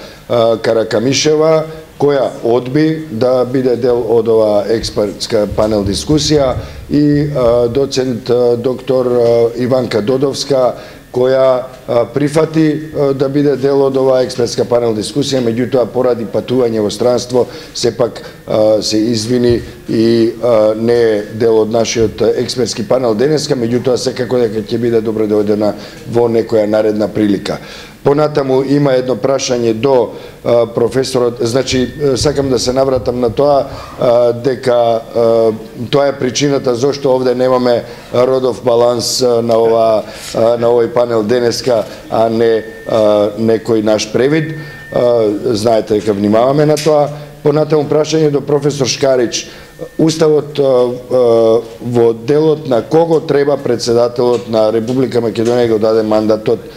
Каракамишева, која одби да биде дел од оваа експертска панел дискусија, и доцент доктор Иванка Додовска, која прифати да биде дел од оваа експертска панел дискусија, меѓутоа поради патување во странство сепак се извини и не е дел од нашиот експертски панел денеска, меѓутоа секако дека ќе биде добро дојдена во некоја наредна прилика. Понатаму има едно прашање до а, професорот, значи сакам да се навратам на тоа а, дека а, тоа е причината зошто овде немаме родов баланс а, на ова а, на овој панел денеска, а не а, некој наш превид. А, знаете дека внимаваме на тоа. Понатаму прашање до професор Шкарич. Уставот а, а, во делот на кого треба председателот на Република Македонија го даде мандатот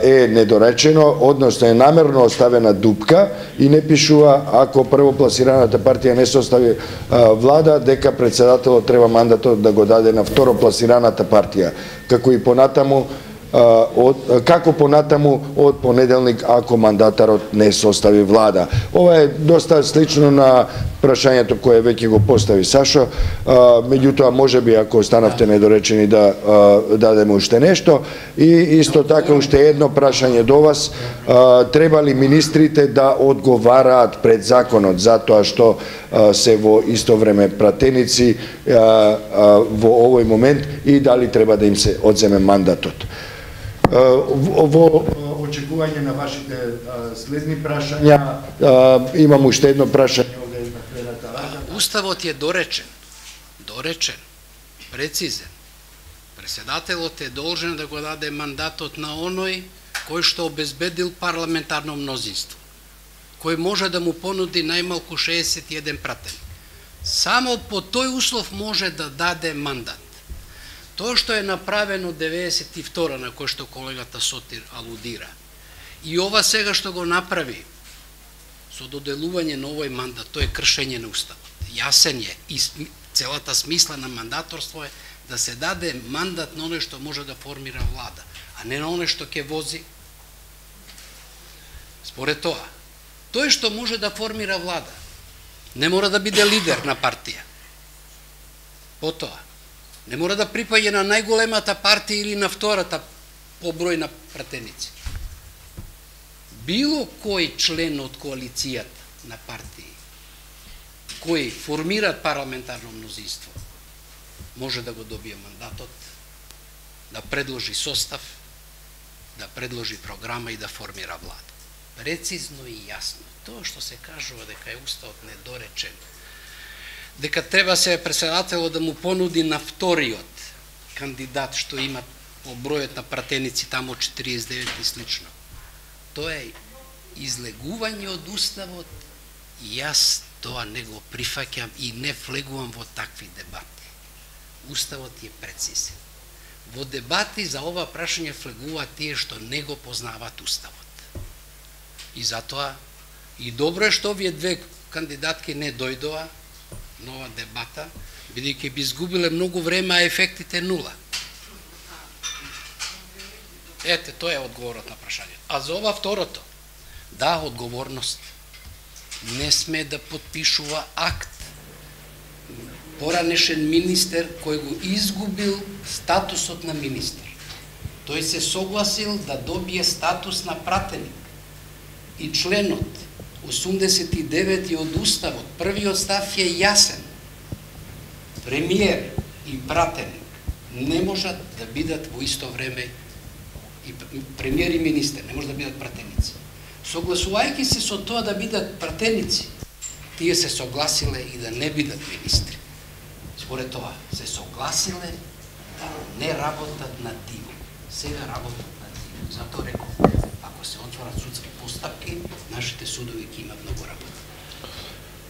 е недоречено, односно е намерно оставена дупка и не пишува ако првопласираната партија не состави влада, дека председателот треба мандатот да го даде на второпласираната партија, како и понатаму од, како понатаму од понеделник ако мандатарот не состави влада. Ова е доста слично на прашањето кое веќе го постави Сашо, меѓутоа можеби ако останавте недоречени да дадеме уште нешто. И исто така уште едно прашање до вас, треба ли министрите да одговараат пред законот затоа што се во исто време пратеници во овој момент и дали треба да им се одземе мандатот? Во очекување на вашите следни прашања имам уште едно прашање. Уставот е доречен, доречен, прецизен. Председателот е должен да го даде мандатот на оној кој што обезбедил парламентарно мнозинство, кој може да му понуди најмалку шеесет и еден пратеник. Само по тој услов може да даде мандат. Тоа што е направено деветдесет и втора, на кој што колегата Сотир алудира, И ова сега што го направи со доделување на овој мандат, тоа е кршење на уставот. Јасен е и целата смисла на мандаторство е да се даде мандат на оној што може да формира влада, а не на оној што ќе вози. Според тоа, тој што може да формира влада, не мора да биде лидер на партија. Потоа, не мора да припаѓа на најголемата партија или на втората по број на пратеници. Било кој член од коалицијата на партии, кои формираат парламентарно мнозинство, може да го добие мандатот, да предложи состав, да предложи програма и да формира влада. Прецизно и јасно. Тоа што се кажува дека е уставот недоречен, дека треба се председателот да му понуди на вториот кандидат што има по бројот на пратеници тамо четириесет и девет и слично. Тоа е излегување од уставот и јас тоа не го прифаќам и не влегувам во такви дебати. Уставот е прецизен. Во дебати за ова прашање влегуваат тие што не го познаваат уставот. И затоа и добро е што овие две кандидатки не дојдоа на ова дебата, бидејќи би изгубиле многу време, а ефектите нула. Ете, тоа е одговорот на прашањето. А за ова второто, да, одговорност. Не сме да подпишува акт поранешен министер кој го изгубил статусот на министер. Тој се согласил да добие статус на пратеник. И членот осумдесет и девети од уставот, првиот став е јасен. Премиер и пратеник не можат да бидат во исто време, и премиер и министер не можат да бидат пратеници. Согласувајќи се со тоа да бидат пратеници, тие се согласиле и да не бидат министри. Според тоа, се согласиле да не работат на диво. Сега работат на диво. Затоа реков, ако се отворат судски постапки, нашите судови ќе имат многу работа.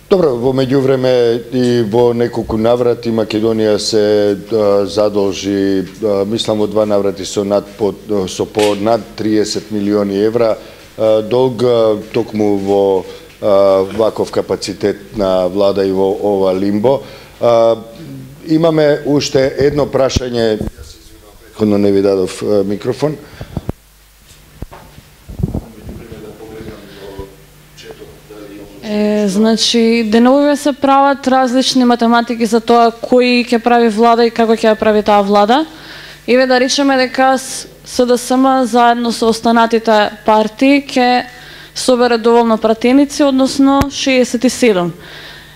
Добро, во меѓувреме и во неколку наврати Македонија се а, задолжи, а, мислам во два наврати со над по, со по над триесет милиони евра а, долг а, токму во а, ваков капацитет на влада и во ова лимбо. А, имаме уште едно прашање, јас се извинувам, претходно не ви дадов а, микрофон. Е, значи, деновиве се прават различни математики за тоа кој ќе прави влада и како ќе ја прави таа влада. И ве да речеме дека СДСМ заедно со останатите партии ќе собере доволно пратеници, односно шеесет и седум.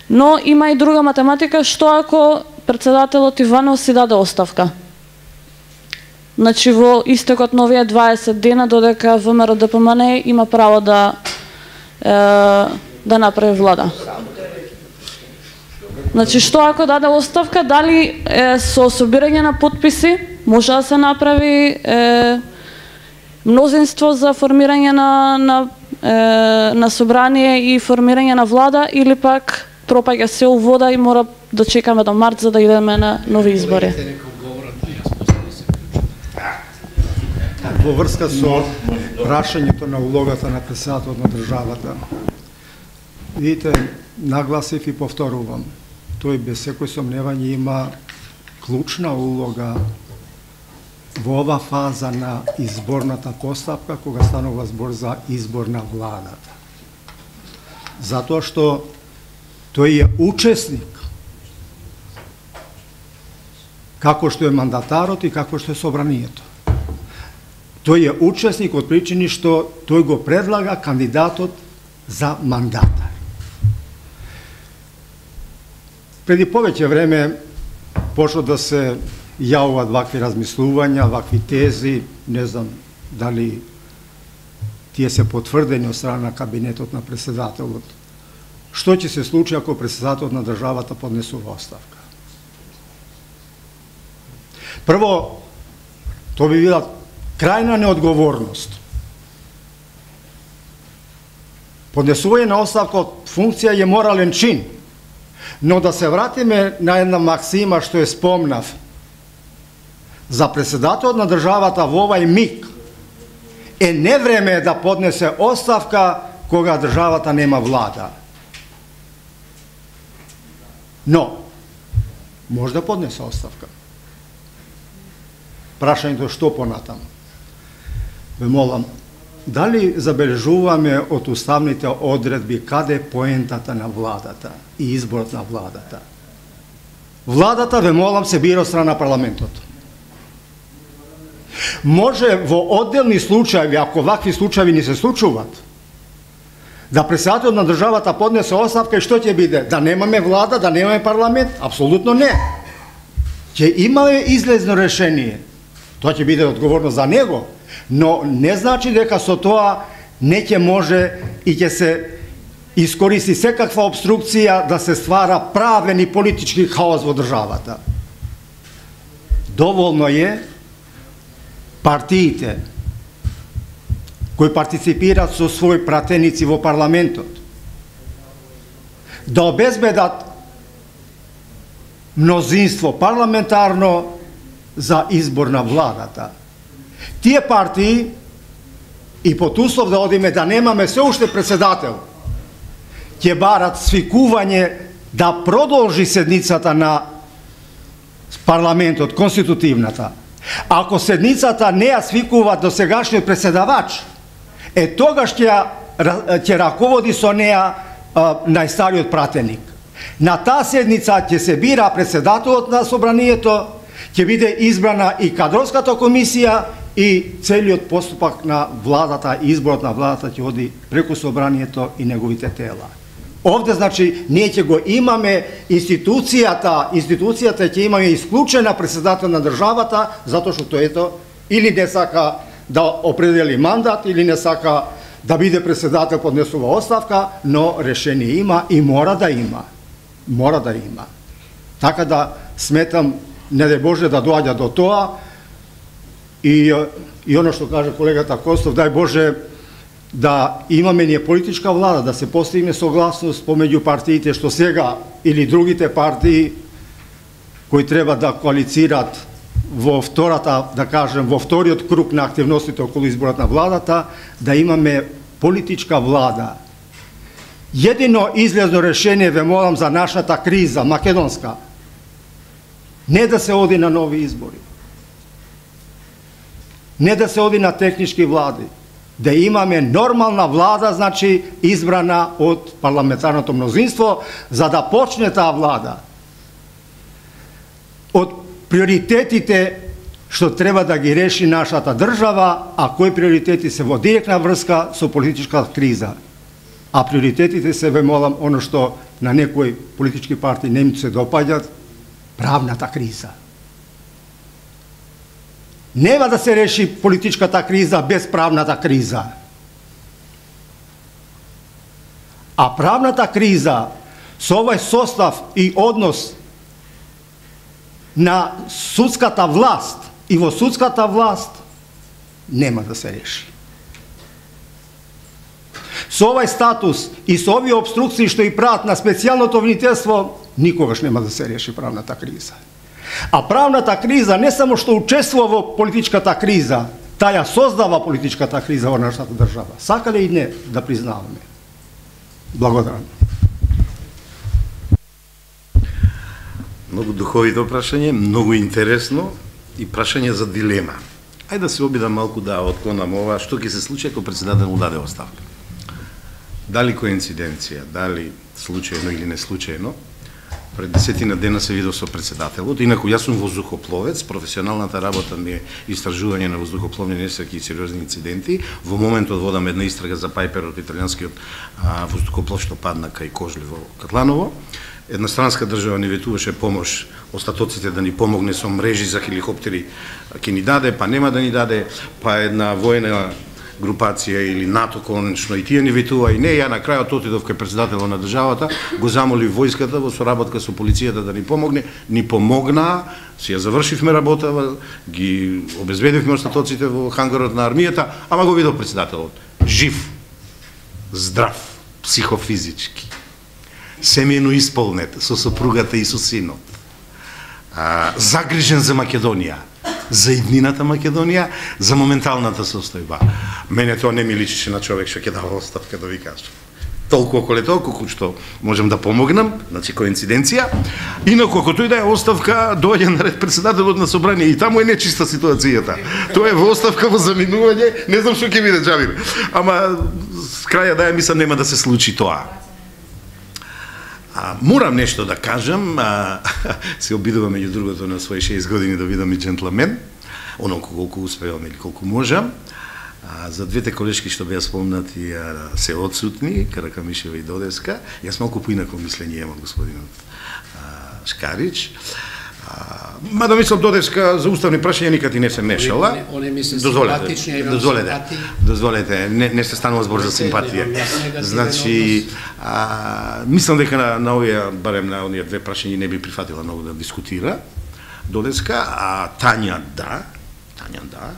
Но има и друга математика, што ако председателот Иванов си даде оставка. Значи, во истекот на овие дваесет дена, додека ВМРО Д П М Н има право да е, да направи влада. Значи, што ако даде оставка, дали е, со собирање на подписи може да се направи е, мнозинство за формирање на, на, е, на собрание и формирање на влада, или пак пропаѓа се у вода и мора да чекаме до март за да идеме на нови избори? Во врска со прашањето на улогата на председателот на државата, видите, нагласив и повторувам, тој без секој сомневање има клучна улога во ова фаза на изборната постапка, кога станува збор за избор на владата. Затоа што тој е учесник, како што е мандатарот и како што е собранието. Тој е учесник од причини што тој го предлага кандидатот за мандатар. Преди повеќе време почна да се јавуваат вакви размислувања, вакви тези, не знам дали тие се потврдени од страна на кабинетот на председателот. Што ќе се случи ако председателот на државата поднесува оставка? Прво, тоа би била крајна неодговорност. Поднесување на оставка од функција е морален чин, но да се вратиме на една максима што е спомнав. За председателот на државата во овај миг е не време да поднесе оставка кога државата нема влада. Но, може да поднесе оставка. Прашањето што понатаму. Ве молам, дали забележуваме од уставните одредби каде е поентата на владата и изборот на владата? Владата, ве молам, се бира од страна парламентот. Може во одделни случаи, ако вакви случаи не се случуваат, да председателот на државата поднесе оставка и што ќе биде? Да немаме влада, да немаме парламент? Апсолутно не. Ќе имаме излезно решение. Тоа ќе биде одговорно за него, но не значи дека со тоа не ќе може и ќе се искористи секаква обструкција да се ствара правен и политички хаос во државата. Доволно е партиите кои партиципираат со своји пратеници во парламентот да обезбедат мнозинство парламентарно за избор на владата. Тие партии, и под услов да одиме да немаме се уште председател, ќе барат свикување да продолжи седницата на парламентот, конститутивната. Ако седницата не ја свикува до сегашниот председавач, е тогаш ќе ќе раководи со неа најстариот пратеник. На таа седница ќе се бира председателот на собранието, ќе биде избрана и кадровската комисија и целиот поступак на владата, изборот на владата ќе оди преку собранието и неговите тела. Овде, значи, ние ќе го имаме институцијата, институцијата ќе имаме исклучена председател на државата, затоа што ето, или не сака да определи мандат, или не сака да биде председател, поднесува оставка, но решение има и мора да има. Мора да има. Така да сметам, не дај Боже да доаѓа до тоа, и, и оно што каже колегата Костов, дај Боже да имаме ние политичка влада, да се постигне согласност помеѓу партиите што сега или другите партии кои треба да коалицираат во втората, да кажем, во вториот круг на активностите околу изборот на владата, да имаме политичка влада. Едино излезно решение, ве молам, за нашата криза, македонска, не да се оди на нови избори, не да се оди на технички влади, да имаме нормална влада, значи избрана од парламентарното мнозинство, за да почне таа влада од приоритетите што треба да ги реши нашата држава, а кои приоритети се во директна врска со политичка криза. А приоритетите се, ве молам, оно што на некои политички партии не им се допаѓат, правната криза. Нема да се реши политичката криза без правната криза. А правната криза со овој состав и однос на судската власт и во судската власт нема да се реши. Со овој статус и со овие обструкции што и прават на специјалното обвинителство, никогаш нема да се реши правната криза. А правната криза не само што учествува во политичката криза, таа ја создава политичката криза во нашата држава. Сакале и не да признаваме. Благодарам. Многу духовито прашање, многу интересно и прашање за дилема. Ајде да се обидам малку да отклонам ова, што ќе се случи ако председател му даде оставка. Дали коинциденција, дали случајно или не случајно, пред десетина дена се видов со председателот. Инаку јас сум воздухопловец, професионалната работа ми е истражување на воздухопловни несреќи и сериозни инциденти. Во моментот водам една истрага за Пајпер од италијанскиот воздухоплов што падна кај Кожли во Катланово. Една странска држава ни ветуваше помош остатоците да ни помогне со мрежи за хеликоптери, ќе ни даде, па нема да ни даде, па една воена групација или НАТО конечно и тие ни ветува, и не, ја на крајот отидов кај председателот на државата, го замоли војската во соработка со полицијата да ни помогне, ни помогна, си ја завршивме работа, ги обезбедивме остатоците во хангарот на армијата, ама го видов председателот, жив, здрав, психофизички, семејно исполнет со сопругата и со синот, а, загрижен за Македонија. за иднината Македонија, за моменталната состојба. Мене тоа не ми личише на човек што ќе дава оставка, да ви кажам. Толку околе толку што можем да помогнам, значи коинциденција. Инаку ако тој да е оставка, доаѓа на ред председателот на собрание и таму е нечиста ситуацијата. Тоа е во оставка во заминување, не знам што ќе биде Џабир. Ама с краја да ја мислам нема да се случи тоа. А, морам нешто да кажам, а, се обидувам меѓу другото на своји шест години да видам и джентлмен, оноку колку успевам или колку можам. А, за двете колешки што беа спомнати а, се отсутни, Каракамишева и Додеска. Јас малку поинако мислење имам господинот а, Шкарич. А, мада мислам Додеска за уставни прашања никад и не се мешала. Они ми се дозволете, симпатични, дозволете, дозволете, не, не се станува збор за симпатија. Значи, а, мислам дека на, на овие, барем на оние две прашања не би прифатила многу да дискутира Додеска, а Тања да, Тања да.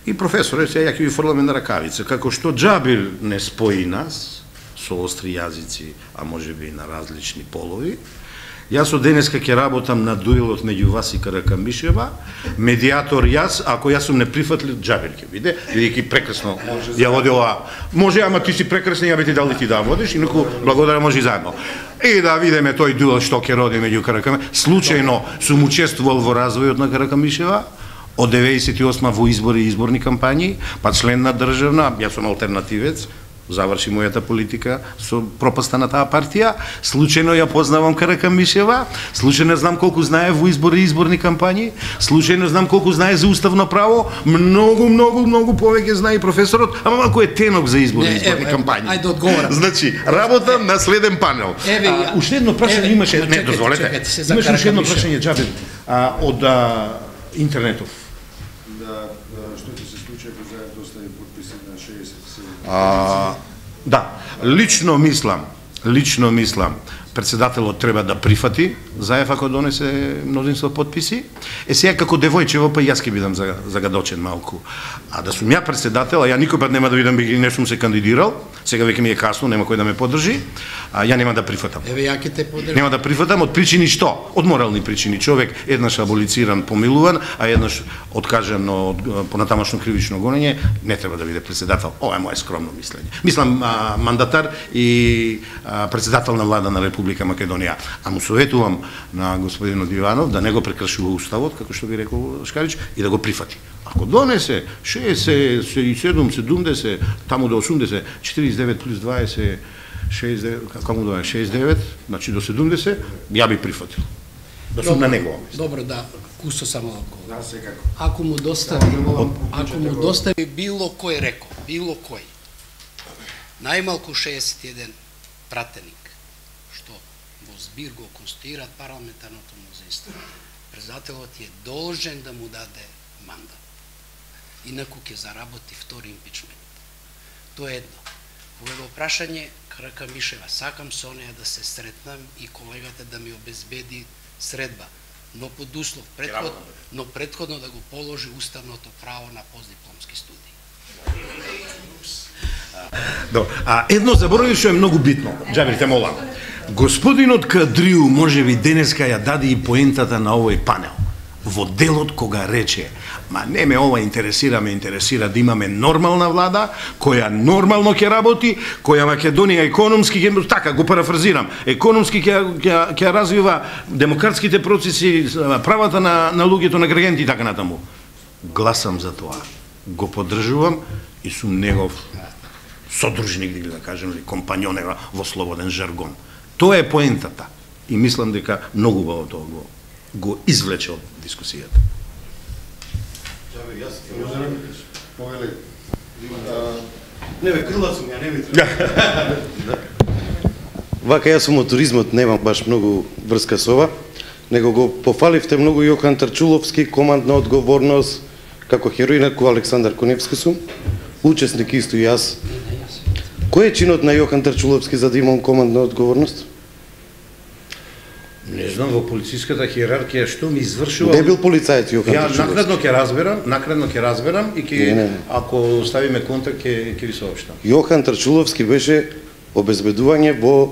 И професоре, сега ќе ви фрламе на ракавица, како што Џабир не спои нас со остри јазици, а може би на различни полови. Јас од денеска ќе работам на дуелот меѓу вас и Каракамишева, медијатор јас, ако јас сум неприфатлив, Џабир ќе биде, бидејќи прекрасно ја водила. Може, ама ти си прекрасен, ја би ти дали ти да водиш, инаку благодарам, може и заедно. И да видиме тој дуел што ќе роди меѓу Каракамишева. Случајно сум учествувал во развојот на Каракамишева, од деветдесет и осма во избори и изборни кампањи, па член на државна, јас сум алтернативец, заврши мојата политика со пропаста на таа партија, случајно ја познавам Каракамишева, случајно знам колку знае во избори и изборни кампањи, случајно знам колку знае за уставно право, многу, многу, многу повеќе знае и професорот, ама малку е тенок за избори и изборни кампањи. Ајде одговорам. Значи, работам на следен панел. Еве, а, уште едно прашање имаше, не, дозволете, имаше уште едно прашање, Џабир, од а, интернетов. А, да, лично мислам, лично мислам, председателот треба да прифати заев ако донесе мнозинство подписи. Е сега како девојчево, па јас ќе бидам загадочен малку. А да сум ја председател, а ја никој пат нема да видам би не сум се кандидирал, сега веќе ми е касно, нема кој да ме поддржи, а ја нема да прифатам. Еве ја ќе те поддржам. Нема да прифатам од причини што? Од морални причини. Човек еднаш аболициран, помилуван, а еднаш откажан од понатамошно кривично гонење, не треба да биде председател. Ова е мое скромно мислење. Мислам а, мандатар и а, председател на влада на Република Македонија. А му советувам на господинот Иванов да не го прекршува уставот, како што би рекол Шкарич, и да го прифати. Ако донесе шеесет и седум, седумдесет, таму до осумдесет, четириесет и девет плюс дваесет, шеесет и девет, како му доаѓа, шеесет и девет, значи до седумдесет, ја би прифатил. Да сум на него. Добро, да, кусто само одговор. Да, секако. Ако му достави, ако му достави било кој рекол, било кој, најмалку шеесет и еден пратеник, што во збир го конституираат парламентарното мнозинство, председателот е должен да му даде мандат. Инаку ќе заработи втори импичмент. Тоа е едно. Во прашање Каракамишева, сакам со неја да се сретнам и колегата да ми обезбеди средба, но под услов предход, но предходно да го положи уставното право на постдипломски студии. Добро. А едно заборави што е многу битно. Џабир, те молам. Господинот Кадриу можеби денеска ја даде и поентата на овој панел. Во делот кога рече, ма не ме ова интересира, ме интересира да имаме нормална влада, која нормално ќе работи, која Македонија економски ќе, така го парафразирам, економски ќе ќе ќе развива демократските процеси, правата на на луѓето, на граѓаните и така натаму. Гласам за тоа. Го поддржувам и сум негов содружник, да кажем, или компањон во слободен жаргон. Тоа е поентата. И мислам дека многу убаво тоа го го извлече од дискусијата. Не бе, крила сум, ја не ми треба. Вака, јас сум од туризмот, немам баш многу врска со ова, него го пофаливте многу Јохан Тарчуловски, командна одговорност, како херој, инаку Александар Коневски сум, учесник исто и јас. Кој е чинот на Јохан Тарчуловски за да имам командна одговорност? Не знам, во полициската хиерархија што ми извршува. Не бил полицајец Јохан Ја Тарчуловски. накратно ќе разберам, накратно ќе разберам и ќе Не, не, не. ако ставиме контакт ќе ќе ви соопштам. Јохан Тарчуловски беше обезбедување во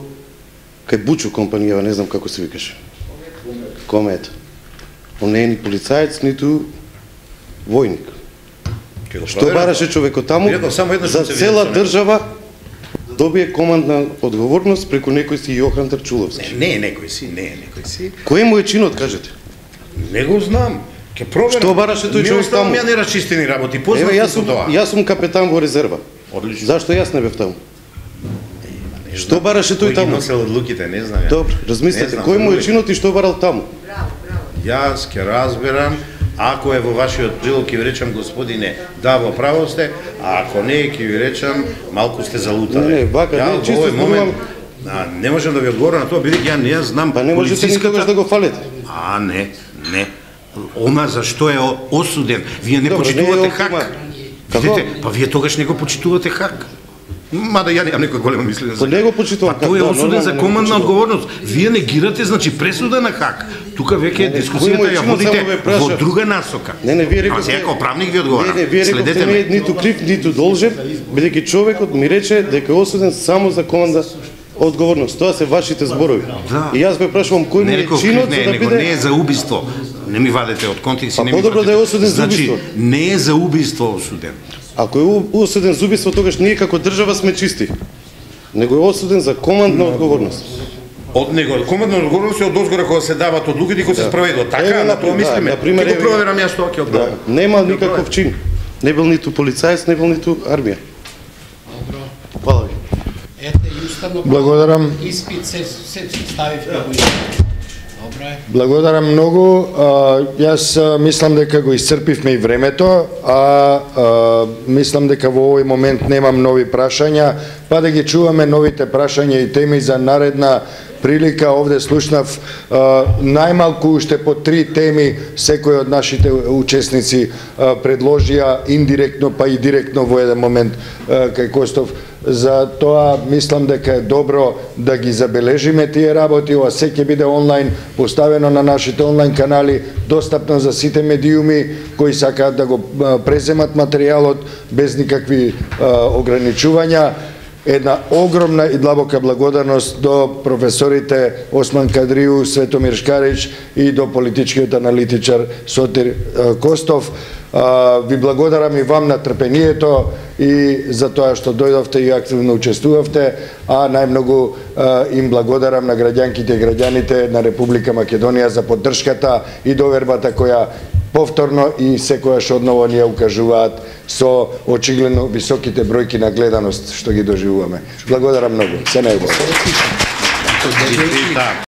кај Бучо компанија, не знам како се викаше. Комет. Он не е ни полицајец, ниту војник. Ке го Што проверам. бараше човекот таму Веројатно само еднаш за се видел цела со него. држава добие командна одговорност преку некој си Јохан Трчуловски. Не, не, некој си, не, некој си. Кој му е чинот, кажете? Не го знам. Ке проверам. Што бараше тој човек оставам таму? ја нерасчистени работи. Еве, Познат јас сум сум, тоа. јас сум капетан во резерва. Одлично. Зашто јас не бев таму? Не Што знам. бараше тој Кој ги таму? носел одлуките, не знам ја. Добро, Не размислете, знам, кој му е знам. чинот и што барал таму? Јас ќе разберам, ако е во вашиот прилог ќе ви речам господине, да, во право сте, а ако не ќе ви речам малку сте залутали. Не, не, вака, Ја не, во чисто овој момент, зборувам. а, не можам да ви одговорам на тоа, бидејќи ја не ја знам Па не можете ни полициската- тогаш да го фалите. А, не, не. Ома зашто е о- осуден? Вие не Добро, почитувате не е Хак. ома. Видите, Како? па вие тогаш не го почитувате Хак. Мада ја немам некој големо мислење. Па не го почитувам Па тој е Хак, да, осуден нормално, за не го командна почитувам. одговорност. Вие негирате, значи, пресуда на Хак. Тука веќе Не, не, кој му дискусијата е ја чинот, водите само ве праша. во друга насока. Не, не, вие Ама рековте... сега како правник ви одговарам. Не, не, вие Следете рековте ме. не е ниту крив, ниту должен, бидејќи човекот ми рече дека е осуден само за команда одговорност. Тоа се вашите зборови. Да. И јас ве прашувам кој му Не е реков чинот не, за да него не е биде... за убиство. Не ми вадете од контекст и Па не ми подобро вадете. да е осуден за Значи, убиство. не е за убиство осуден. Ако е у- осуден за убиство, тогаш ние како држава сме чисти. Него е осуден за командна одговорност. Од него, командна одговорност е од озгора кога се дават одлуките и кога се спроведуваат. Така, Еве, на тоа да, мислиме. например, Ќе го еве- проверам јас тоа ќе Да, одговорам. нема никаков чин. Не бил ниту полицаец, не бил ниту армија. Добро. Фала ви. Ете, и уставно Благодарам. Испит се, се ставивте во испит. Добро е. Благодарам многу. А, Јас а, мислам дека го исцрпивме и времето, а, а мислам дека во овој момент немам нови прашања, па да ги чуваме новите прашања и теми за наредна прилика. Овде слушнав а, најмалку уште по три теми секој од нашите учесници а, предложија индиректно па и директно во еден момент а, кај Костов. За тоа мислам дека е добро да ги забележиме тие работи. Ова се ќе биде онлайн, поставено на нашите онлайн канали, достапно за сите медиуми кои сакаат да го а, преземат материјалот без никакви а, ограничувања. Една огромна и длабока благодарност до професорите Осман Кадрију, Светомир Шкарич и до политичкиот аналитичар Сотир а, Костов. А, ви благодарам и вам на трпението и за тоа што дојдовте и активно учествувавте, а најмногу а, им благодарам на граѓанките и граѓаните на Република Македонија за поддршката и довербата која повторно и секојаш одново ни ја укажуваат со очигледно високите бројки на гледаност што ги доживуваме. Благодарам многу. Се најубаво. Честитам.